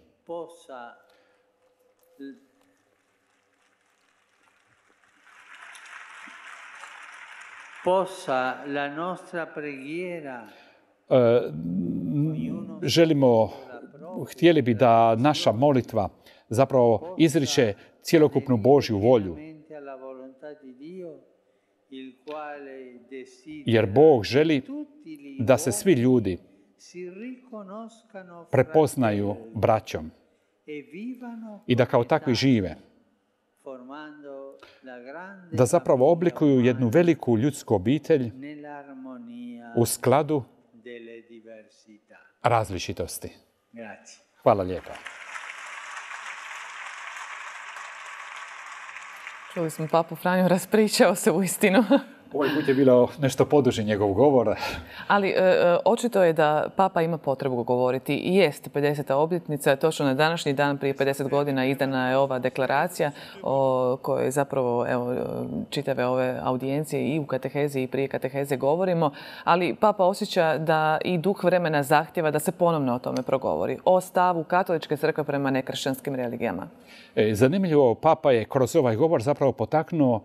Htjeli bi da naša molitva zapravo izriče cjelokupnu Božju volju. Jer Bog želi da se svi ljudi prepoznaju braćom i da kao takvi žive. Da zapravo oblikuju jednu veliku ljudsku obitelj u skladu različitosti. Hvala lijepa. Čuli smo papu Franju, raspričao se uistinu. Ovaj put je bilo nešto poduži njegov govor. Ali očito je da papa ima potrebu govoriti. I jest 50. obljetnica, točno na današnji dan prije 50 godina izdana je ova deklaracija o kojoj zapravo čitave ove audijencije i u katehezi i prije kateheze govorimo. Ali papa osjeća da i duh vremena zahtjeva da se ponovno o tome progovori. O stavu katoličke crkve prema nekršćanskim religijama. Zanimljivo, papa je kroz ovaj govor zapravo potaknuo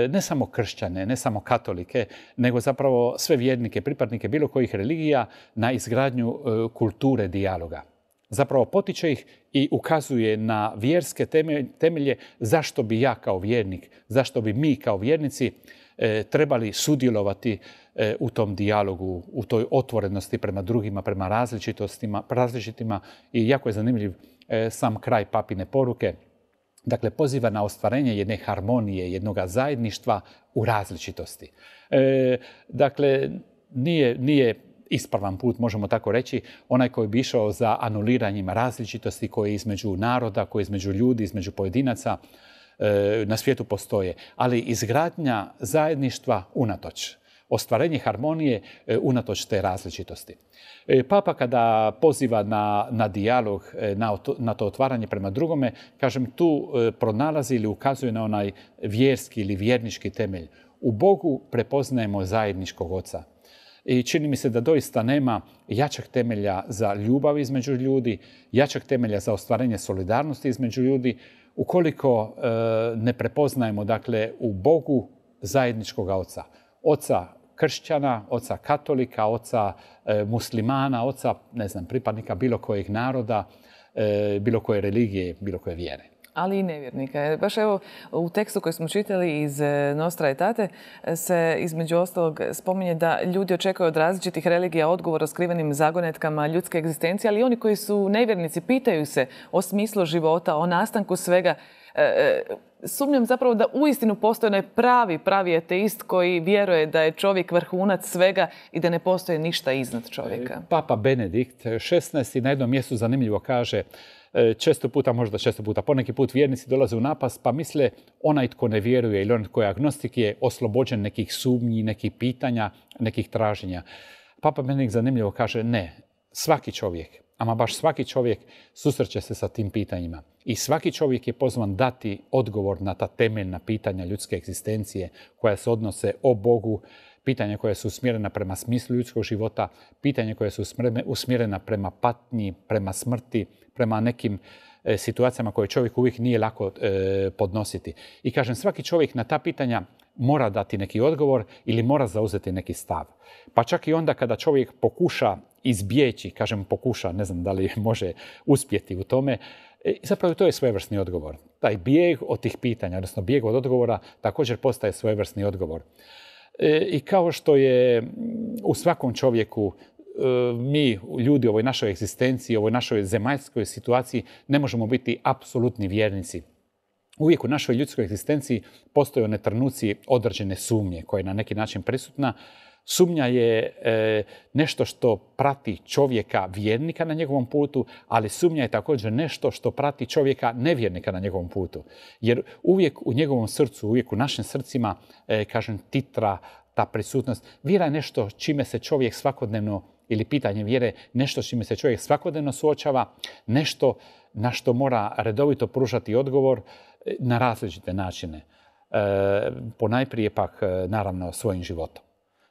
ne samo kršćane, ne samo katolike, nego zapravo sve vjernike, pripadnike bilo kojih religija na izgradnju kulture dijaloga. Zapravo potiče ih i ukazuje na vjerske temelje zašto bi ja kao vjernik, zašto bi mi kao vjernici trebali sudjelovati u tom dijalogu, u toj otvorenosti prema drugima, prema različitima. I jako je zanimljiv sam kraj papine poruke. Dakle, poziva na ostvarenje jedne harmonije, jednog zajedništva u različitosti. Dakle, nije ispravan put, možemo tako reći, onaj koji bi išao za anuliranjem različitosti koje je između naroda, koje je između ljudi, između pojedinaca. na svijetu postoje, ali izgradnja zajedništva unatoč. Ostvarenje harmonije unatoč te različitosti. Papa kada poziva na dijalog, na to otvaranje prema drugome, kažem, tu pronalazi ili ukazuje na onaj vjerski ili vjernički temelj. U Bogu prepoznajemo zajedničkog Oca. I čini mi se da doista nema jačeg temelja za ljubav između ljudi, jačeg temelja za ostvarenje solidarnosti između ljudi, ukoliko ne prepoznajemo, dakle, u Bogu zajedničkog Oca. Oca kršćana, Oca katolika, Oca muslimana, Oca, ne znam, pripadnika bilo kojeg naroda, bilo koje religije, bilo koje vjere. Ali i nevjernika. Baš evo u tekstu koji smo čitali iz Nostra Aetate se između ostalog spominje da ljudi očekuju od različitih religija odgovor o skrivenim zagonetkama ljudske egzistencije, ali i oni koji su nevjernici pitaju se o smislu života, o nastanku svega. Sumnjam zapravo da uistinu postoji onaj pravi ateist koji vjeruje da je čovjek vrhunac svega i da ne postoji ništa iznad čovjeka. Papa Benedikt XVI na jednom mjestu zanimljivo kaže, često puta, poneki put vjernici dolaze u napast pa misle onaj tko ne vjeruje ili onaj tko je agnostik je oslobođen nekih sumnji, nekih pitanja, nekih traženja. Papa Benedikt zanimljivo kaže ne, svaki čovjek, ama baš svaki čovjek susreće se sa tim pitanjima. I svaki čovjek je pozvan dati odgovor na ta temeljna pitanja ljudske egzistencije koja se odnose o Bogu, pitanja koja su usmjerena prema smislu ljudskog života, pitanja koja su usmjerena prema patnji, prema smrti, prema nekim situacijama koje čovjek uvijek nije lako podnositi. I kažem, svaki čovjek na ta pitanja mora dati neki odgovor ili mora zauzeti neki stav. Pa čak i onda kada čovjek pokuša izbjeći, kažem pokuša, ne znam da li može uspjeti u tome, zapravo to je svojevrsni odgovor. Taj bijeg od tih pitanja, odnosno bijeg od odgovora, također postaje svojevrsni odgovor. I kao što je u svakom čovjeku, mi, ljudi u ovoj našoj egzistenciji, u ovoj našoj zemaljskoj situaciji, ne možemo biti apsolutni vjernici. Uvijek u našoj ljudskoj egzistenciji postoje one trenuci određene sumnje koja je na neki način prisutna. Sumnja je nešto što prati čovjeka vjernika na njegovom putu, ali sumnja je također nešto što prati čovjeka nevjernika na njegovom putu. Jer uvijek u njegovom srcu, uvijek u našim srcima, kažem, titra ta prisutnost. Vjera je nešto čime se čovjek svakodnevno, ili pitanje vjere, nešto čime se čovjek svakodnevno suočava, nešto na što mora redovito pružati odgovor na različite načine. Ponajprije pak, naravno, svojim životom.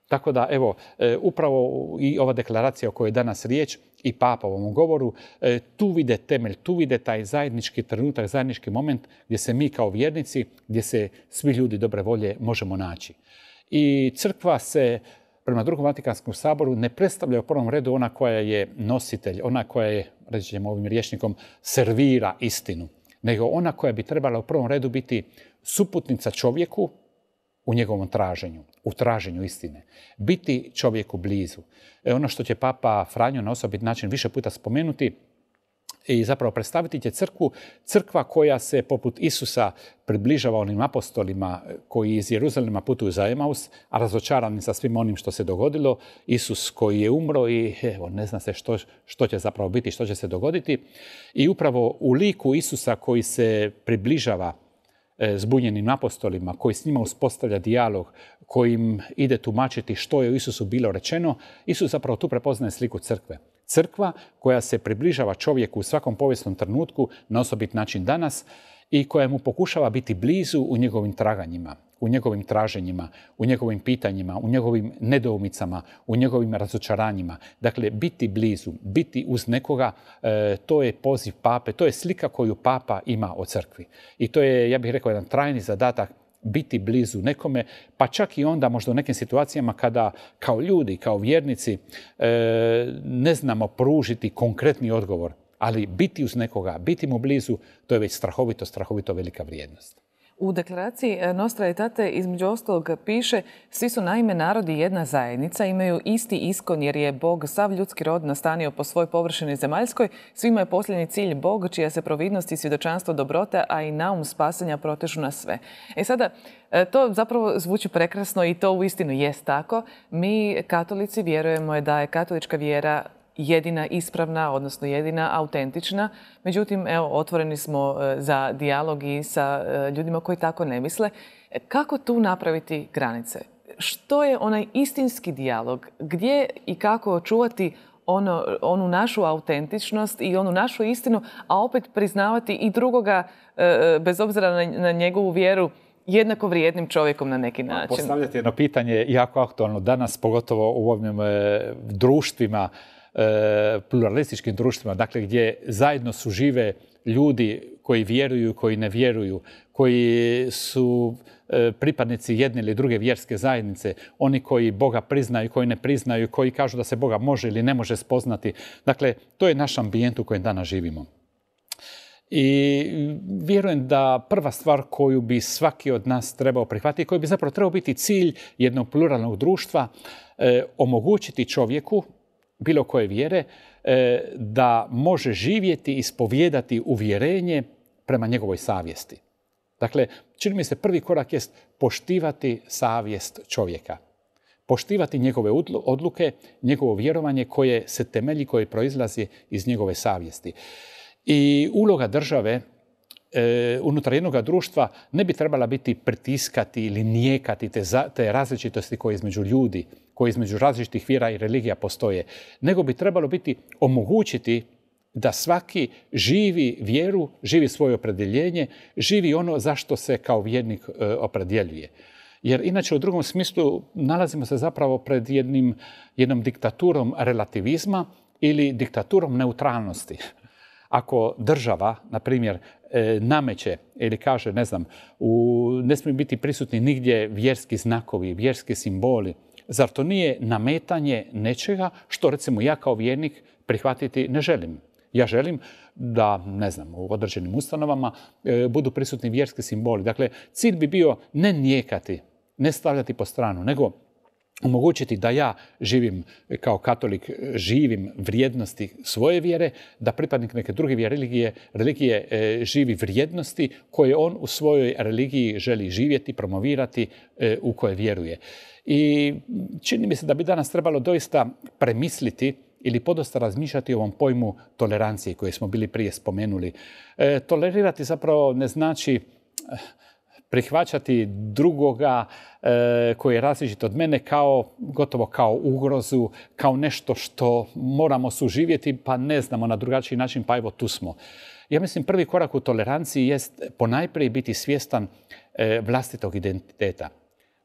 Tako da, evo, upravo i ova deklaracija o kojoj je danas riječ i Papa u ovom govoru, tu vide temelj, tu vide taj zajednički trenutak, zajednički moment gdje se mi kao vjernici, gdje se svi ljudi dobre volje možemo naći. I crkva se prema Drugom Vatikanskom saboru ne predstavlja u prvom redu ona koja je nositelj, ona koja je, reći ćemo ovim rječnikom, servira istinu, nego ona koja bi trebala u prvom redu biti suputnica čovjeku u njegovom traženju, u traženju istine. Biti čovjeku blizu. Ono što će Papa Franjo na osobit način više puta spomenuti i zapravo predstaviti će crkva koja se poput Isusa približava onim apostolima koji iz Jeruzalema putuju za Emaus, a razočarani sa svim onim što se dogodilo. Isus koji je umro i evo, ne zna se što će zapravo biti, što će se dogoditi. I upravo u liku Isusa koji se približava zbunjenim apostolima, koji s njima uspostavlja dijalog, kojim ide tumačiti što je u Isusu bilo rečeno, Isus zapravo tu prepoznaje sliku crkve. Crkva koja se približava čovjeku u svakom povijesnom trenutku, na osobit način danas, i koja mu pokušava biti blizu u njegovim traganjima, u njegovim traženjima, u njegovim pitanjima, u njegovim nedoumicama, u njegovim razočaranjima. Dakle, biti blizu, biti uz nekoga, to je poziv Pape, to je slika koju Papa ima o crkvi. I to je, ja bih rekao, jedan trajni zadatak, biti blizu nekome, pa čak i onda možda u nekim situacijama kada kao ljudi, kao vjernici ne znamo pružiti konkretni odgovor, ali biti uz nekoga, biti mu blizu, to je već strahovito velika vrijednost. U deklaraciji Nostra Aetate između ostalog piše: svi su naime narodi jedna zajednica, imaju isti iskon jer je Bog sav ljudski rod nastanio po svoj površini zemaljskoj, svima je posljednji cilj Bog čija se providnost i svjedočanstvo dobrote, a i naum spasenja protežu na sve. Sada, to zapravo zvuči prekrasno i to uistinu jest tako. Mi katolici vjerujemo da je katolička vjera jedina ispravna, odnosno jedina autentična. Međutim, evo, otvoreni smo za dijalog i sa ljudima koji tako ne misle. Kako tu napraviti granice? Što je onaj istinski dijalog? Gdje i kako očuvati onu našu autentičnost i onu našu istinu, a opet priznavati i drugoga, bez obzira na njegovu vjeru, jednako vrijednim čovjekom na neki način? Postavljate jedno pitanje jako aktualno danas, pogotovo u ovim društvima, pluralističkim društvima, dakle gdje zajedno su žive ljudi koji vjeruju, koji ne vjeruju, koji su pripadnici jedne ili druge vjerske zajednice, oni koji Boga priznaju, koji ne priznaju, koji kažu da se Boga može ili ne može spoznati. Dakle, to je naš ambijent u kojem danas živimo. I vjerujem da prva stvar koju bi svaki od nas trebao prihvatiti, koji bi zapravo trebao biti cilj jednog pluralnog društva, omogućiti čovjeku bilo koje vjere da može živjeti i ispovijedati uvjerenje prema njegovoj savjesti. Dakle, čini mi se prvi korak jest poštivati savjest čovjeka. Poštivati njegove odluke, njegovo vjerovanje koje se temelji, koje proizlazi iz njegove savjesti. I uloga države unutar jednog društva ne bi trebala biti pritiskati ili nijekati te različitosti koje između ljudi, koje između različitih vjera i religija postoje, nego bi trebalo biti omogućiti da svaki živi vjeru, živi svoje opredjeljenje, živi ono zašto se kao vjernik opredjeljuje. Jer inače u drugom smislu nalazimo se zapravo pred jednom diktaturom relativizma ili diktaturom neutralnosti. Ako država, na primjer, nameće ili kaže, ne smiju biti prisutni nigdje vjerski znakovi, vjerski simboli, zar to nije nametanje nečega što, recimo, ja kao vjernik prihvatiti ne želim? Ja želim da, u određenim ustanovama budu prisutni vjerski simboli. Dakle, cilj bi bio ne nijekati, ne stavljati po stranu, nego omogućiti da ja živim kao katolik, živim vrijednosti svoje vjere, da pripadnik neke druge religije živi vrijednosti koje on u svojoj religiji želi živjeti, promovirati, u koje vjeruje. I čini mi se da bi danas trebalo doista premisliti ili podosta razmišljati o ovom pojmu tolerancije koje smo bili prije spomenuli. Tolerirati zapravo ne znači prihvaćati drugoga koji je različit od mene gotovo kao ugrozu, kao nešto što moramo suživjeti, pa ne znamo na drugačiji način, pa evo tu smo. Ja mislim prvi korak u toleranciji jest ponajprije biti svjestan vlastitog identiteta,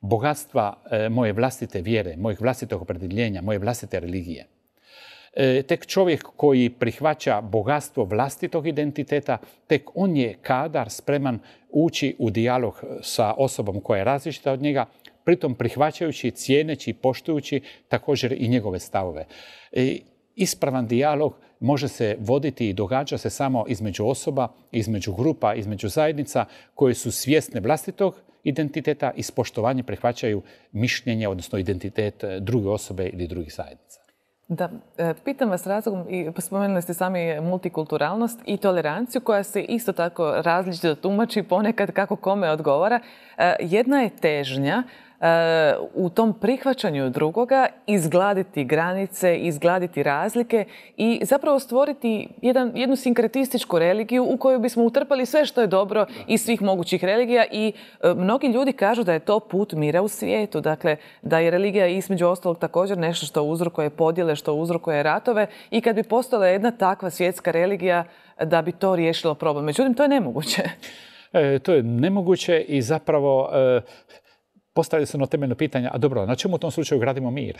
bogatstva moje vlastite vjere, mojeg vlastitog opredjeljenja, moje vlastite religije. Tek čovjek koji prihvaća bogatstvo vlastitog identiteta, tek on je kadar, spreman ući u dijalog sa osobom koja je različita od njega, pritom prihvaćajući, cijeneći, poštujući također i njegove stavove. Ispravan dijalog može se voditi i događa se samo između osoba, između grupa, između zajednica koje su svjesne vlastitog identiteta i s poštovanjem prihvaćaju mišljenje, odnosno identitet druge osobe ili drugih zajednica. Da, pitam vas razlogom, i spomenuli ste sami multikulturalnost i toleranciju koja se isto tako različito tumači ponekad kako kome odgovara. Jedna je težnja u tom prihvaćanju drugoga izgladiti granice, izgladiti razlike i zapravo stvoriti jednu sinkretističku religiju u koju bismo utrpali sve što je dobro iz svih mogućih religija i mnogi ljudi kažu da je to put mira u svijetu. Dakle, da je religija između ostalog također nešto što uzrokuje podjele, što uzrokuje ratove i kad bi postojala jedna takva svjetska religija da bi to riješilo problem. Međutim, to je nemoguće. To je nemoguće i zapravo postavlja se ono temeljno pitanje, a dobro, na čemu u tom slučaju gradimo mir?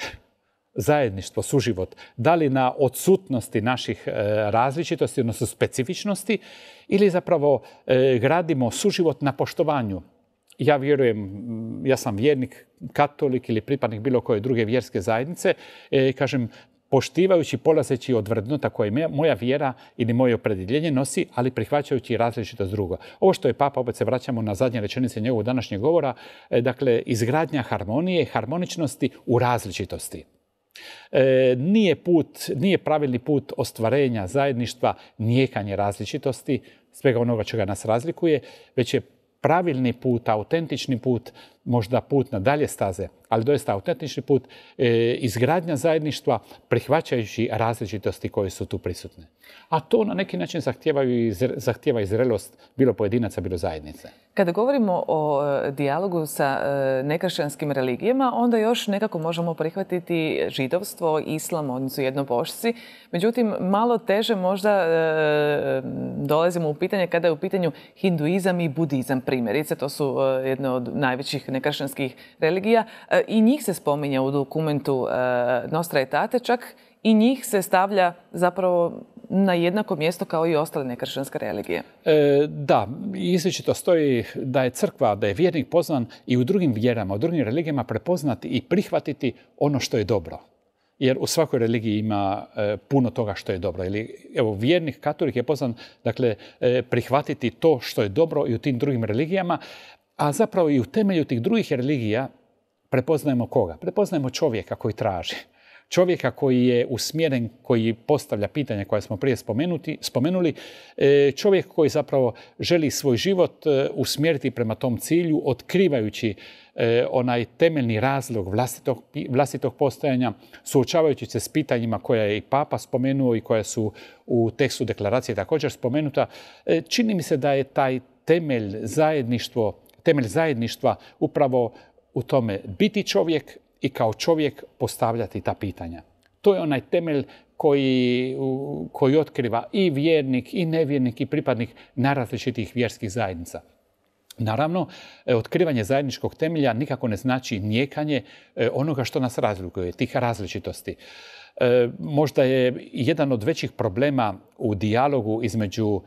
Zajedništvo, suživot. Da li na odsutnosti naših različitosti, odnosno specifičnosti, ili zapravo gradimo suživot na poštovanju? Ja vjerujem, ja sam vjernik, katolik ili pripadnik bilo koje druge vjerske zajednice, kažem, poštivajući, polazeći od vrednota koje moja vjera ili moje opredjeljenje nosi, ali prihvaćajući različitost drugo. Ovo što je Papa, opet se vraćamo na zadnje rečenice njegovog današnjeg govora, dakle, izgradnja harmonije, harmoničnosti u različitosti. Nije pravilni put ostvarenja zajedništva nijekanje različitosti, svega onoga čega nas razlikuje, već je pravilni put, autentični put možda put na dalje staze, ali doista autentični put, izgradnja zajedništva prihvaćajući različitosti koje su tu prisutne. A to na neki način zahtijeva i zrelost bilo pojedinaca, bilo zajednice. Kada govorimo o dijalogu sa nekršćanskim religijama, onda još nekako možemo prihvatiti židovstvo, islam, oni su jednobošci. Međutim, malo teže možda dolazimo u pitanje kada je u pitanju hinduizam i budizam primjerice. To su jedne od najvećih nekršćanskih religija. I njih se spominje u dokumentu Nostra Aetate, čak i njih se stavlja zapravo na jednako mjesto kao i ostale nekršćanske religije. Da, izričito stoji da je crkva, da je vjernik pozvan i u drugim vjerama, u drugim religijama prepoznati i prihvatiti ono što je dobro. Jer u svakoj religiji ima puno toga što je dobro. Evo, vjernik, katolik je pozvan, dakle, prihvatiti to što je dobro i u tim drugim religijama, a zapravo i u temelju tih drugih religija prepoznajemo koga? Prepoznajemo čovjeka koji traži. Čovjeka koji je usmjeren, koji postavlja pitanja koja smo prije spomenuli, čovjek koji zapravo želi svoj život usmjeriti prema tom cilju, otkrivajući onaj temeljni razlog vlastitog postojanja, suočavajući se s pitanjima koja je i Papa spomenuo i koja su u tekstu deklaracije također spomenuta. Čini mi se da je taj temelj zajedništva upravo u tome biti čovjek i kao čovjek postavljati ta pitanja. To je onaj temelj koji otkriva i vjernik, i nevjernik, i pripadnik najrazličitih vjerskih zajednica. Naravno, otkrivanje zajedničkog temelja nikako ne znači nijekanje onoga što nas razlikuje, tih različitosti. Možda je jedan od većih problema u dijalogu između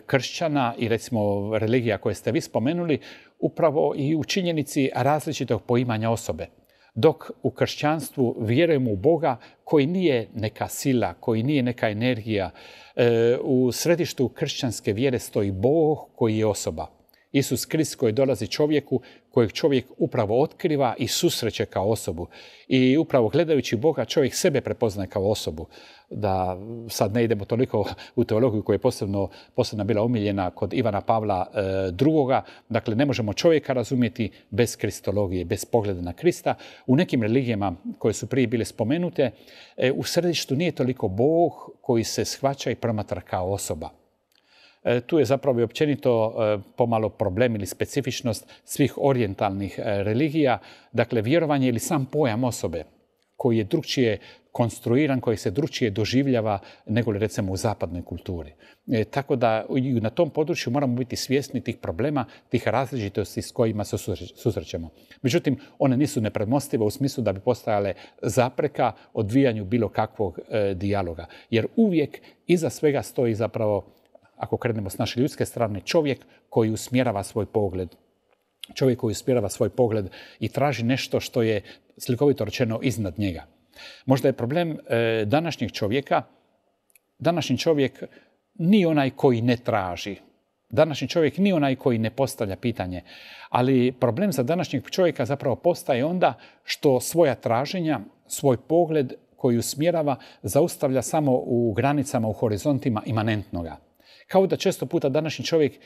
kršćana i recimo religija koje ste vi spomenuli upravo i u činjenici različitog poimanja osobe. Dok u kršćanstvu vjerujemo u Boga koji nije neka sila, koji nije neka energija. U središtu kršćanske vjere stoji Bog koji je osoba. Isus Krist koji dolazi čovjeku, kojeg čovjek upravo otkriva i susreće kao osobu. I upravo gledajući Boga čovjek sebe prepoznaje kao osobu. Da sad ne idemo toliko u teologiju koja je posebno bila omiljena kod Ivana Pavla II. Dakle, ne možemo čovjeka razumjeti bez kristologije, bez pogleda na Krista. U nekim religijama koje su prije bile spomenute, u središtu nije toliko Bog koji se shvaća i promatra kao osoba. Tu je zapravo i općenito pomalo problem ili specifičnost svih orijentalnih religija. Dakle, vjerovanje ili sam pojam osobe koji je drukčije konstruiran, koji se drukčije doživljava nego li recimo u zapadnoj kulturi. Tako da i na tom području moramo biti svjesni tih problema, tih različitosti s kojima se susrećemo. Međutim, one nisu nepremostive u smislu da bi postajale zapreka odvijanju bilo kakvog dijaloga. Jer uvijek iza svega stoji zapravo, ako krenemo s naše ljudske strane, čovjek koji usmjerava svoj pogled. Čovjek koji usmjerava svoj pogled i traži nešto što je slikovito rečeno iznad njega. Možda je problem današnjeg čovjeka, današnji čovjek nije onaj koji ne traži. Današnji čovjek nije onaj koji ne postavlja pitanje. Ali problem za današnjeg čovjeka zapravo postaje onda što svoja traženja, svoj pogled koji usmjerava, zaustavlja samo u granicama, u horizontima imanentnoga. Kao da često puta današnji čovjek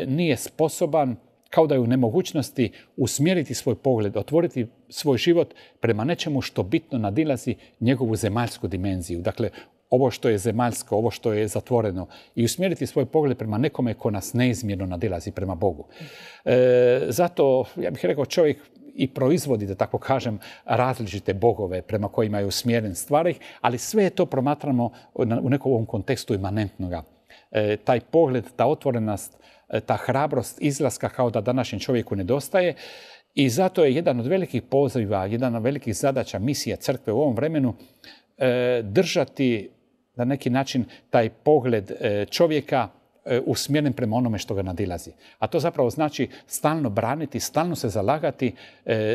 nije sposoban, kao da je u nemogućnosti usmjeriti svoj pogled, otvoriti svoj život prema nečemu što bitno nadilazi njegovu zemaljsku dimenziju. Dakle, ovo što je zemaljsko, ovo što je zatvoreno i usmjeriti svoj pogled prema nekome ko nas neizmjerno nadilazi prema Bogu. Zato, ja bih rekao, čovjek i proizvodi, da tako kažem, različite bogove prema kojima je usmjeren stvari, ali sve to promatramo u nekom ovom kontekstu imanentnoga. Taj pogled, ta otvorenost, ta hrabrost izlaska kao da današnjem čovjeku nedostaje i zato je jedan od velikih poziva, jedan od velikih zadaća misija crkve u ovom vremenu držati na neki način taj pogled čovjeka usmjeren prema onome što ga nadilazi. A to zapravo znači stalno braniti, stalno se zalagati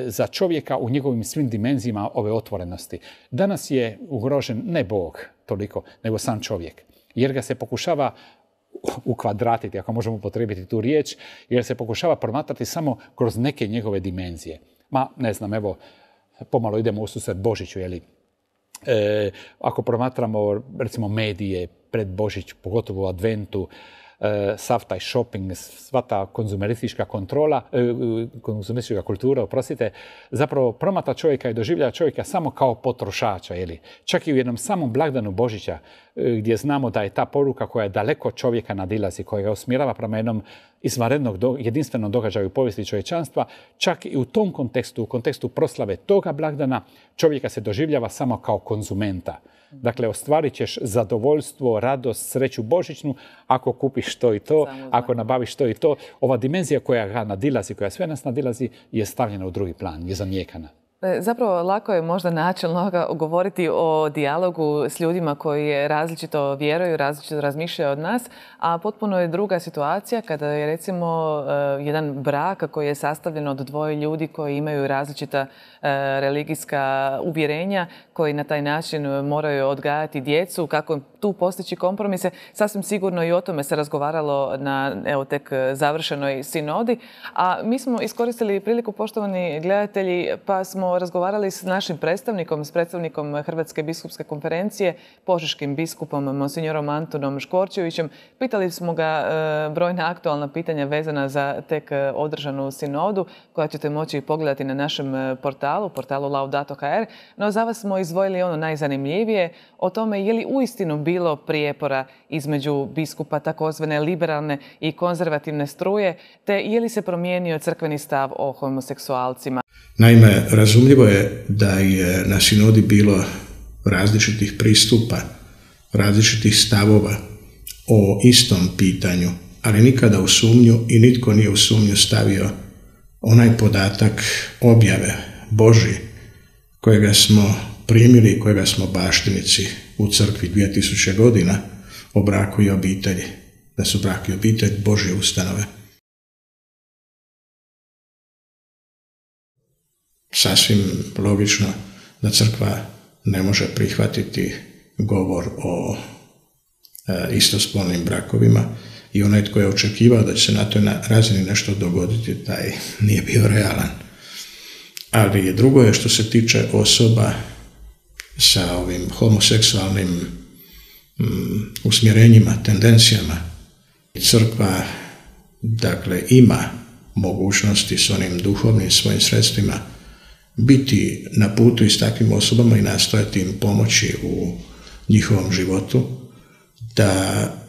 za čovjeka u njegovim svim dimenzijama ove otvorenosti. Danas je ugrožen ne Bog toliko, nego sam čovjek. Jer ga se pokušava ukvadratiti, ako možemo upotrijebiti tu riječ, jer se pokušava promatrati samo kroz neke njegove dimenzije. Ne znam, evo, pomalo idemo u susret Božiću, jeli? Ako promatramo, recimo, medije pred Božić, pogotovo u adventu, sav taj shopping, sva ta konzumeristička konzumeristička kultura, oprostite, zapravo promatra čovjeka i doživljava čovjeka samo kao potrošača. Čak i u jednom samom blagdanu Božića, gdje znamo da je ta poruka koja je daleko čovjeka nadilazi, koja ga usmjerava prema jednom izvanrednog jedinstvenom događaju u povijesti čovječanstva, čak i u tom kontekstu, u kontekstu proslave toga blagdana, čovjeka se doživljava samo kao konzumenta. Dakle, ostvarit ćeš zadovoljstvo, radost, sreću božićnu ako kupiš to i to, ako nabaviš to i to. Ova dimenzija koja ga nadilazi, koja sve nas nadilazi, je stavljena u drugi plan, je zanijekana. Zapravo, lako je možda načelno govoriti o dijalogu s ljudima koji različito vjeruju, različito razmišljaju od nas, a potpuno je druga situacija kada je recimo jedan brak koji je sastavljen od dvoje ljudi koji imaju različita religijska uvjerenja, koji na taj način moraju odgajati djecu, kako tu postići kompromise. Sasvim sigurno i o tome se razgovaralo na tek završenoj sinodi. A mi smo iskoristili priliku, poštovani gledatelji, pa smo razgovarali s našim predstavnikom, s predstavnikom Hrvatske biskupske konferencije, požeškim biskupom monsignorom Antunom Škvorčevićem. Pitali smo ga brojna aktualna pitanja vezana za tek održanu sinodu, koja ćete moći pogledati na našem portalu Laudato.hr. No za vas smo izdvojili ono najzanimljivije, o tome je li uistinu bilo prijepora između biskupa takozvane liberalne i konzervativne struje, te je li se promijenio crkveni stav o homoseksualcima. Naime, razumljivo je da je na sinodi bilo različitih pristupa, različitih stavova o istom pitanju, ali nikada u sumnju i nitko nije u sumnju stavio onaj podatak objave Božji kojega smo primili i kojega smo baštinici u crkvi 2000 godina o braku i obitelji, da su brak i obitelj Božje ustanove. Sasvim logično da crkva ne može prihvatiti govor o istospolnim brakovima i onaj tko je očekivao da će se na toj razini nešto dogoditi, taj nije bio realan. Ali drugo je što se tiče osoba sa ovim homoseksualnim usmjerenjima, tendencijama. Crkva, dakle, ima mogućnosti s onim duhovnim svojim sredstvima biti na putu i s takvim osobama i nastojati im pomoći u njihovom životu, da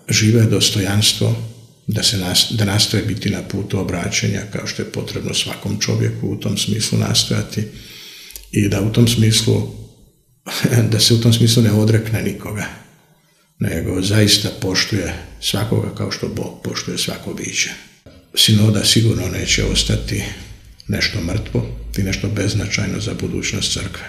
žive dostojanstvo, da nastoje biti na putu obraćenja kao što je potrebno svakom čovjeku u tom smislu nastojati i da u tom smislu, da se u tom smislu ne odrekne nikoga, nego zaista poštuje svakoga kao što Bog poštuje svako biće. Sinoda sigurno neće ostati nešto mrtvo i nešto beznačajno za budućnost crkve.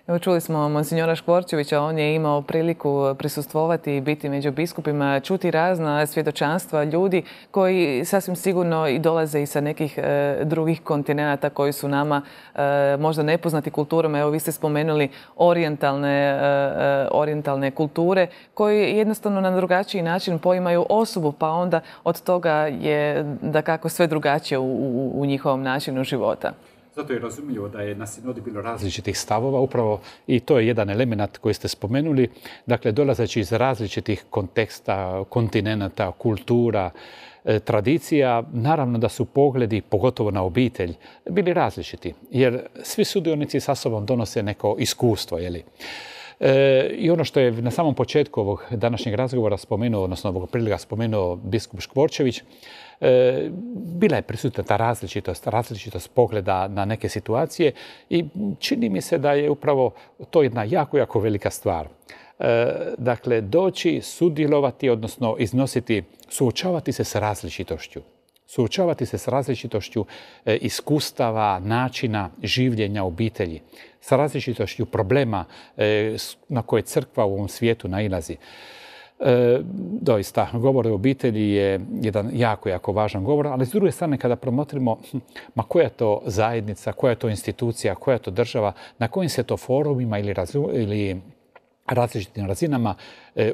Evo, čuli smo monsinjora Škvorčevića, on je imao priliku prisustvovati i biti među biskupima, čuti razna svjedočanstva ljudi koji sasvim sigurno i dolaze i sa nekih drugih kontinenata koji su nama možda nepoznati kulturama. Evo, vi ste spomenuli orijentalne kulture koji jednostavno na drugačiji način poimaju osobu, pa onda od toga je dakako sve drugačije u njihovom načinu života. Zato je razumljivo da je na sinodi bilo različitih stavova, upravo i to je jedan element koji ste spomenuli. Dakle, dolazeći iz različitih konteksta, kontinenata, kultura, tradicija, naravno da su pogledi, pogotovo na obitelj, bili različiti. Jer svi sudionici sa sobom donose neko iskustvo, I ono što je na samom početku ovog današnjeg razgovora spomenuo, odnosno ovog prilika spomenuo biskup Škvorčević, bila je prisutna ta različitost pogleda na neke situacije i čini mi se da je upravo to jedna jako, jako velika stvar. Dakle, doći, sudjelovati, odnosno iznositi, suočavati se s različitošću. Suočavati se s različitošću iskustava, načina življenja obitelji, s različitošću problema na koje crkva u ovom svijetu nailazi. Doista, govor o obitelji je jedan jako, jako važan govor, ali s druge strane kada promotrimo koja je to zajednica, koja je to institucija, koja je to država, na kojim se to forumima ili različitim razinama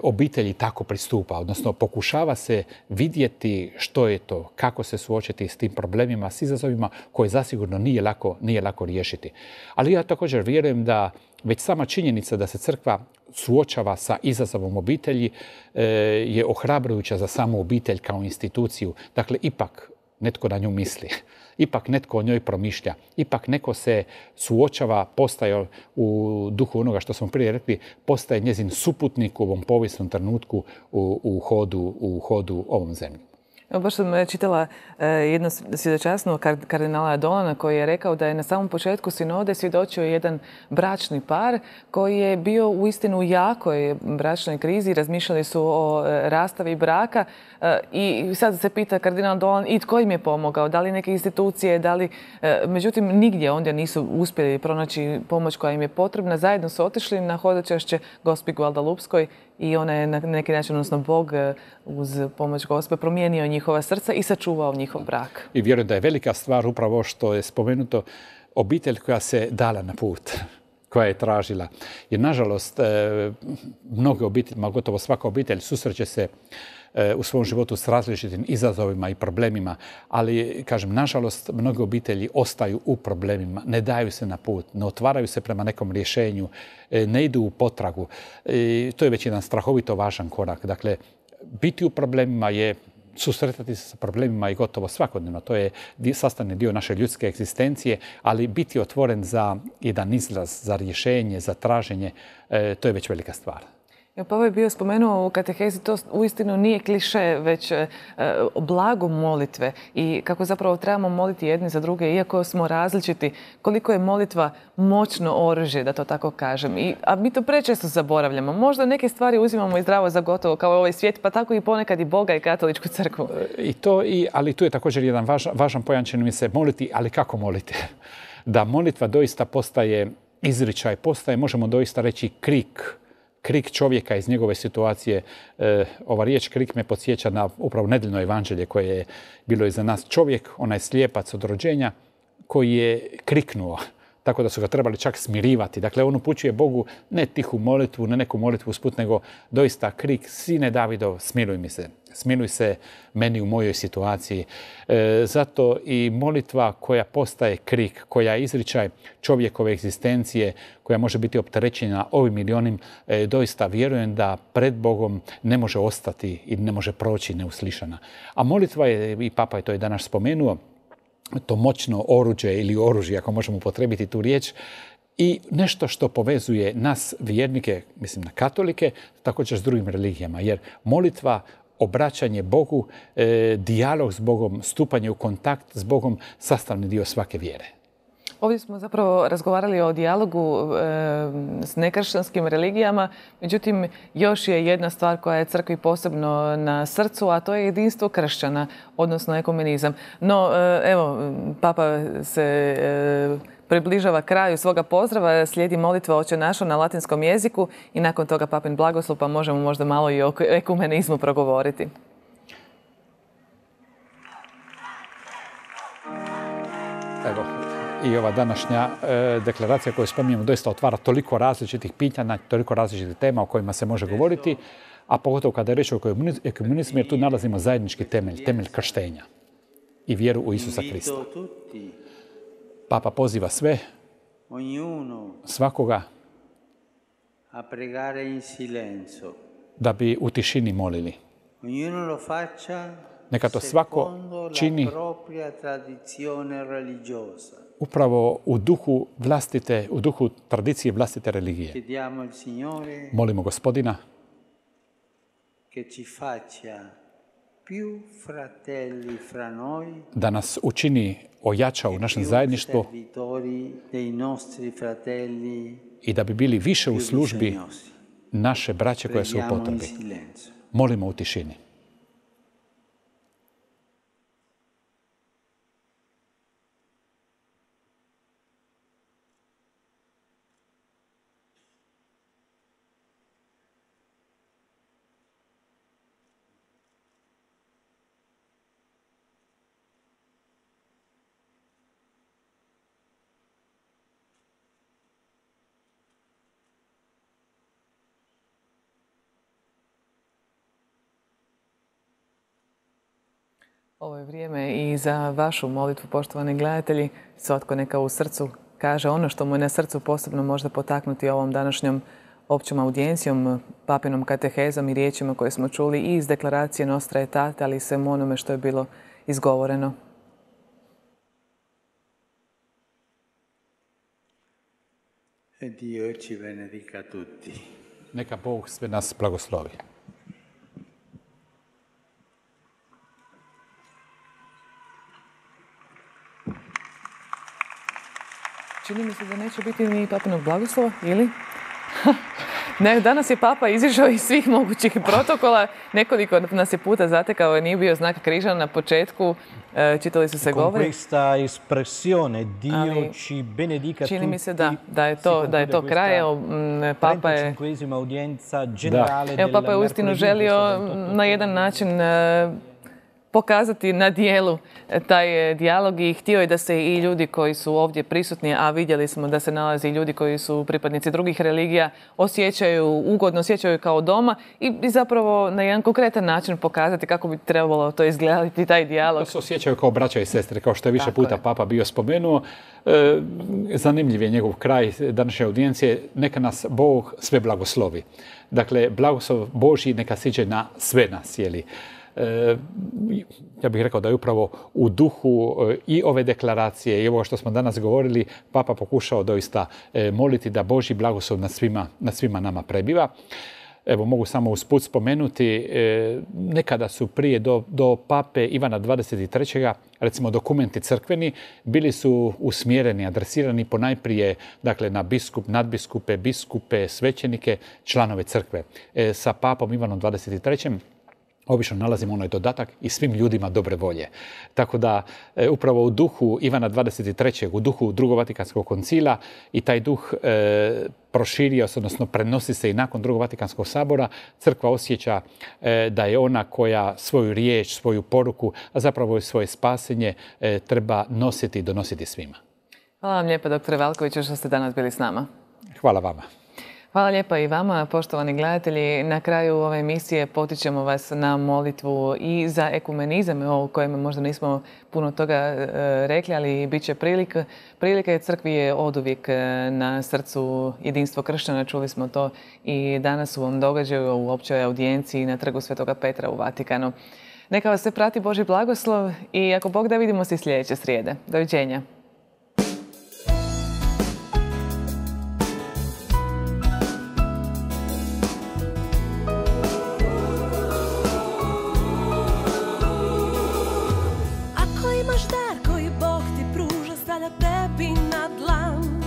obitelji tako pristupa, odnosno pokušava se vidjeti što je to, kako se suočiti s tim problemima, s izazovima koje zasigurno nije lako riješiti. Ali ja također vjerujem da već sama činjenica da se crkva suočava sa izazovom obitelji je ohrabrujuća za samu obitelj kao instituciju. Dakle, ipak netko na nju misli, ipak netko o njoj promišlja, ipak neko se suočava, postaje u duhu onoga što smo prije rekli, postaje njezin suputnik u ovom povijesnom trenutku u hodu ovom zemljom. Evo, baš sam čitala jedno svjedočanstvo kardinala Dolana koji je rekao da je na samom početku sinode svjedočio jedan bračni par koji je bio uistinu u jakoj bračnoj krizi. Razmišljali su o rastavi braka i sad se pita kardinal Dolan i tko im je pomogao, da li neke institucije, međutim nigdje ondje nisu uspjeli pronaći pomoć koja im je potrebna. Zajedno su otišli na hodočašće Gospi Guadalupskoj i ona je na neki način, odnosno Bog uz pomoć Gospe promijenio njihova srca i sačuvao njihov brak. I vjerujem da je velika stvar upravo što je spomenuto, obitelj koja se dala na put, koja je tražila. Jer nažalost, mnoge obitelji, gotovo svaka obitelj susreće se u svom životu s različitim izazovima i problemima, ali, kažem, nažalost, mnoge obitelji ostaju u problemima, ne daju se na put, ne otvaraju se prema nekom rješenju, ne idu u potragu. To je već jedan strahovito važan korak. Dakle, biti u problemima je susretati se sa problemima i gotovo svakodnevno. To je sastavni dio naše ljudske egzistencije, ali biti otvoren za jedan izlaz, za rješenje, za traženje, to je već velika stvar. Pavo je bio spomenuo u katehezi, to uistinu nije kliše, već blago molitve i kako zapravo trebamo moliti jedni za druge, iako smo različiti, koliko je molitva moćno oružje, da to tako kažem. A mi to prečesto zaboravljamo. Možda neke stvari uzimamo i zdravo za gotovo, kao ovaj svijet, pa tako i ponekad i Boga i katoličku crkvu. Ali tu je također jedan važan pojam, čini mi se, moliti, ali kako moliti? Da molitva doista postaje izričaj, možemo doista reći krik čovjeka iz njegove situacije. Ova riječ krik me podsjeća na upravo nedeljno evanđelje koje je bilo iza nas. Čovjek, onaj slijepac od rođenja, koji je kriknuo, tako da su ga trebali čak smirivati. Dakle, on upućuje Bogu ne tihu molitvu, ne neku molitvu usput, nego doista krik, sine Davidov, smiluj mi se. Smiluj se meni u mojoj situaciji. Zato i molitva koja postaje krik, koja je izričaj čovjekove egzistencije, koja može biti opterećena ovim ili onim, doista vjerujem da pred Bogom ne može ostati i ne može proći neuslišana. A molitva je, i Papa je to i danas spomenuo, to moćno oruđe ili oružje, ako možemo upotrijebiti tu riječ, i nešto što povezuje nas vjernike, mislim na katolike, također s drugim religijama. Jer molitva, obraćanje Bogu, dijalog s Bogom, stupanje u kontakt s Bogom, sastavni dio svake vjere. Ovdje smo zapravo razgovarali o dijalogu s nekršćanskim religijama, međutim još je jedna stvar koja je crkvi posebno na srcu, a to je jedinstvo kršćana, odnosno ekumenizam. No, evo, Papa se približava kraju svoga pozdrava, slijedi molitva Oče naš na latinskom jeziku i nakon toga Papin blagoslov, pa možemo možda malo i o ekumenizmu progovoriti. Evo, i ova današnja deklaracija koju spominjemo doista otvara toliko različitih pitanja, toliko različitih tema o kojima se može govoriti, a pogotovo kada je reč o ekumenizmu, jer tu nalazimo zajednički temelj krštenja i vjeru u Isusa Krista. Papa poziva sve, svakoga, da bi u tišini molili. Neka to svako čini upravo u duhu tradicije vlastite religije. Molimo Gospodina da nas učini ojača u našem zajedništvu i da bi bili više u službi naše braće koje su u potrebi. Molimo u tišini. Ovo je vrijeme i za vašu molitvu, poštovani gledatelji. Svatko neka u srcu kaže ono što mu je na srcu posebno možda potaknuti ovom današnjom općom audijencijom, papinom katehezom i riječima koje smo čuli i iz deklaracije Nostra Aetate, ali i svemu onome što je bilo izgovoreno. Dio ci benedica tutti. Neka Bog sve nas blagoslovi. Čini mi se da neće biti ni papinog blagoslova, ili? Ne, danas je papa izišao iz svih mogućih protokola. Nekoliko nas je puta zatekao, nije bio znak križa na početku. Čitali su se govori. Questa espressione Dio ci benedica tutti. Čini mi se da je to kraj. Papa je uistinu želio na jedan način pokazati na dijelu taj dijalog i htio je da se i ljudi koji su ovdje prisutni, a vidjeli smo da se nalazi i ljudi koji su pripadnici drugih religija, osjećaju ugodno, osjećaju kao doma i zapravo na jedan konkretan način pokazati kako bi trebalo to izgledati, taj dijalog. Da se osjećaju kao braća i sestre, kao što je više puta Papa bio spomenuo. Zanimljiv je njegov kraj današnje audijencije. Neka nas Bog sve blagoslovi. Dakle, blagoslov Božji neka siđe na sve nas, jeli. Ja bih rekao da je upravo u duhu i ove deklaracije i ovo što smo danas govorili, Papa pokušao doista moliti da Božji blagoslov nad svima nama prebiva. Evo, mogu samo usput spomenuti, nekada su prije do pape Ivana 23. recimo dokumenti crkveni bili su usmjereni, adresirani ponajprije dakle, na nadbiskupe, biskupe, svećenike, članove crkve. Sa papom Ivanom 23. obično nalazimo onaj dodatak i svim ljudima dobre volje. Tako da upravo u duhu Ivana 23. u duhu Drugog Vatikanskog koncila i taj duh proširio se, odnosno prenosi se i nakon Drugog Vatikanskog sabora. Crkva osjeća da je ona koja svoju riječ, svoju poruku, a zapravo i svoje spasenje treba nositi i donositi svima. Hvala vam lijepa, doktore Valkoviću, što ste danas bili s nama. Hvala vama. Hvala lijepa i vama, poštovani gledatelji. Na kraju ove emisije potičemo vas na molitvu i za ekumenizam, o kojem možda nismo puno toga rekli, ali bit će prilika jer crkvi je oduvijek na srcu jedinstvo kršćana. Čuli smo to i danas u ovom događaju u općoj audijenciji na trgu Svetoga Petra u Vatikanu. Neka vas se prati Božji blagoslov i ako Bog da, vidimo se sljedeće srijede. Doviđenja. Tebi na dlan,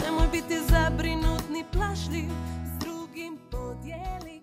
nemoj biti zabrinut ni plašljiv, s drugim podijeli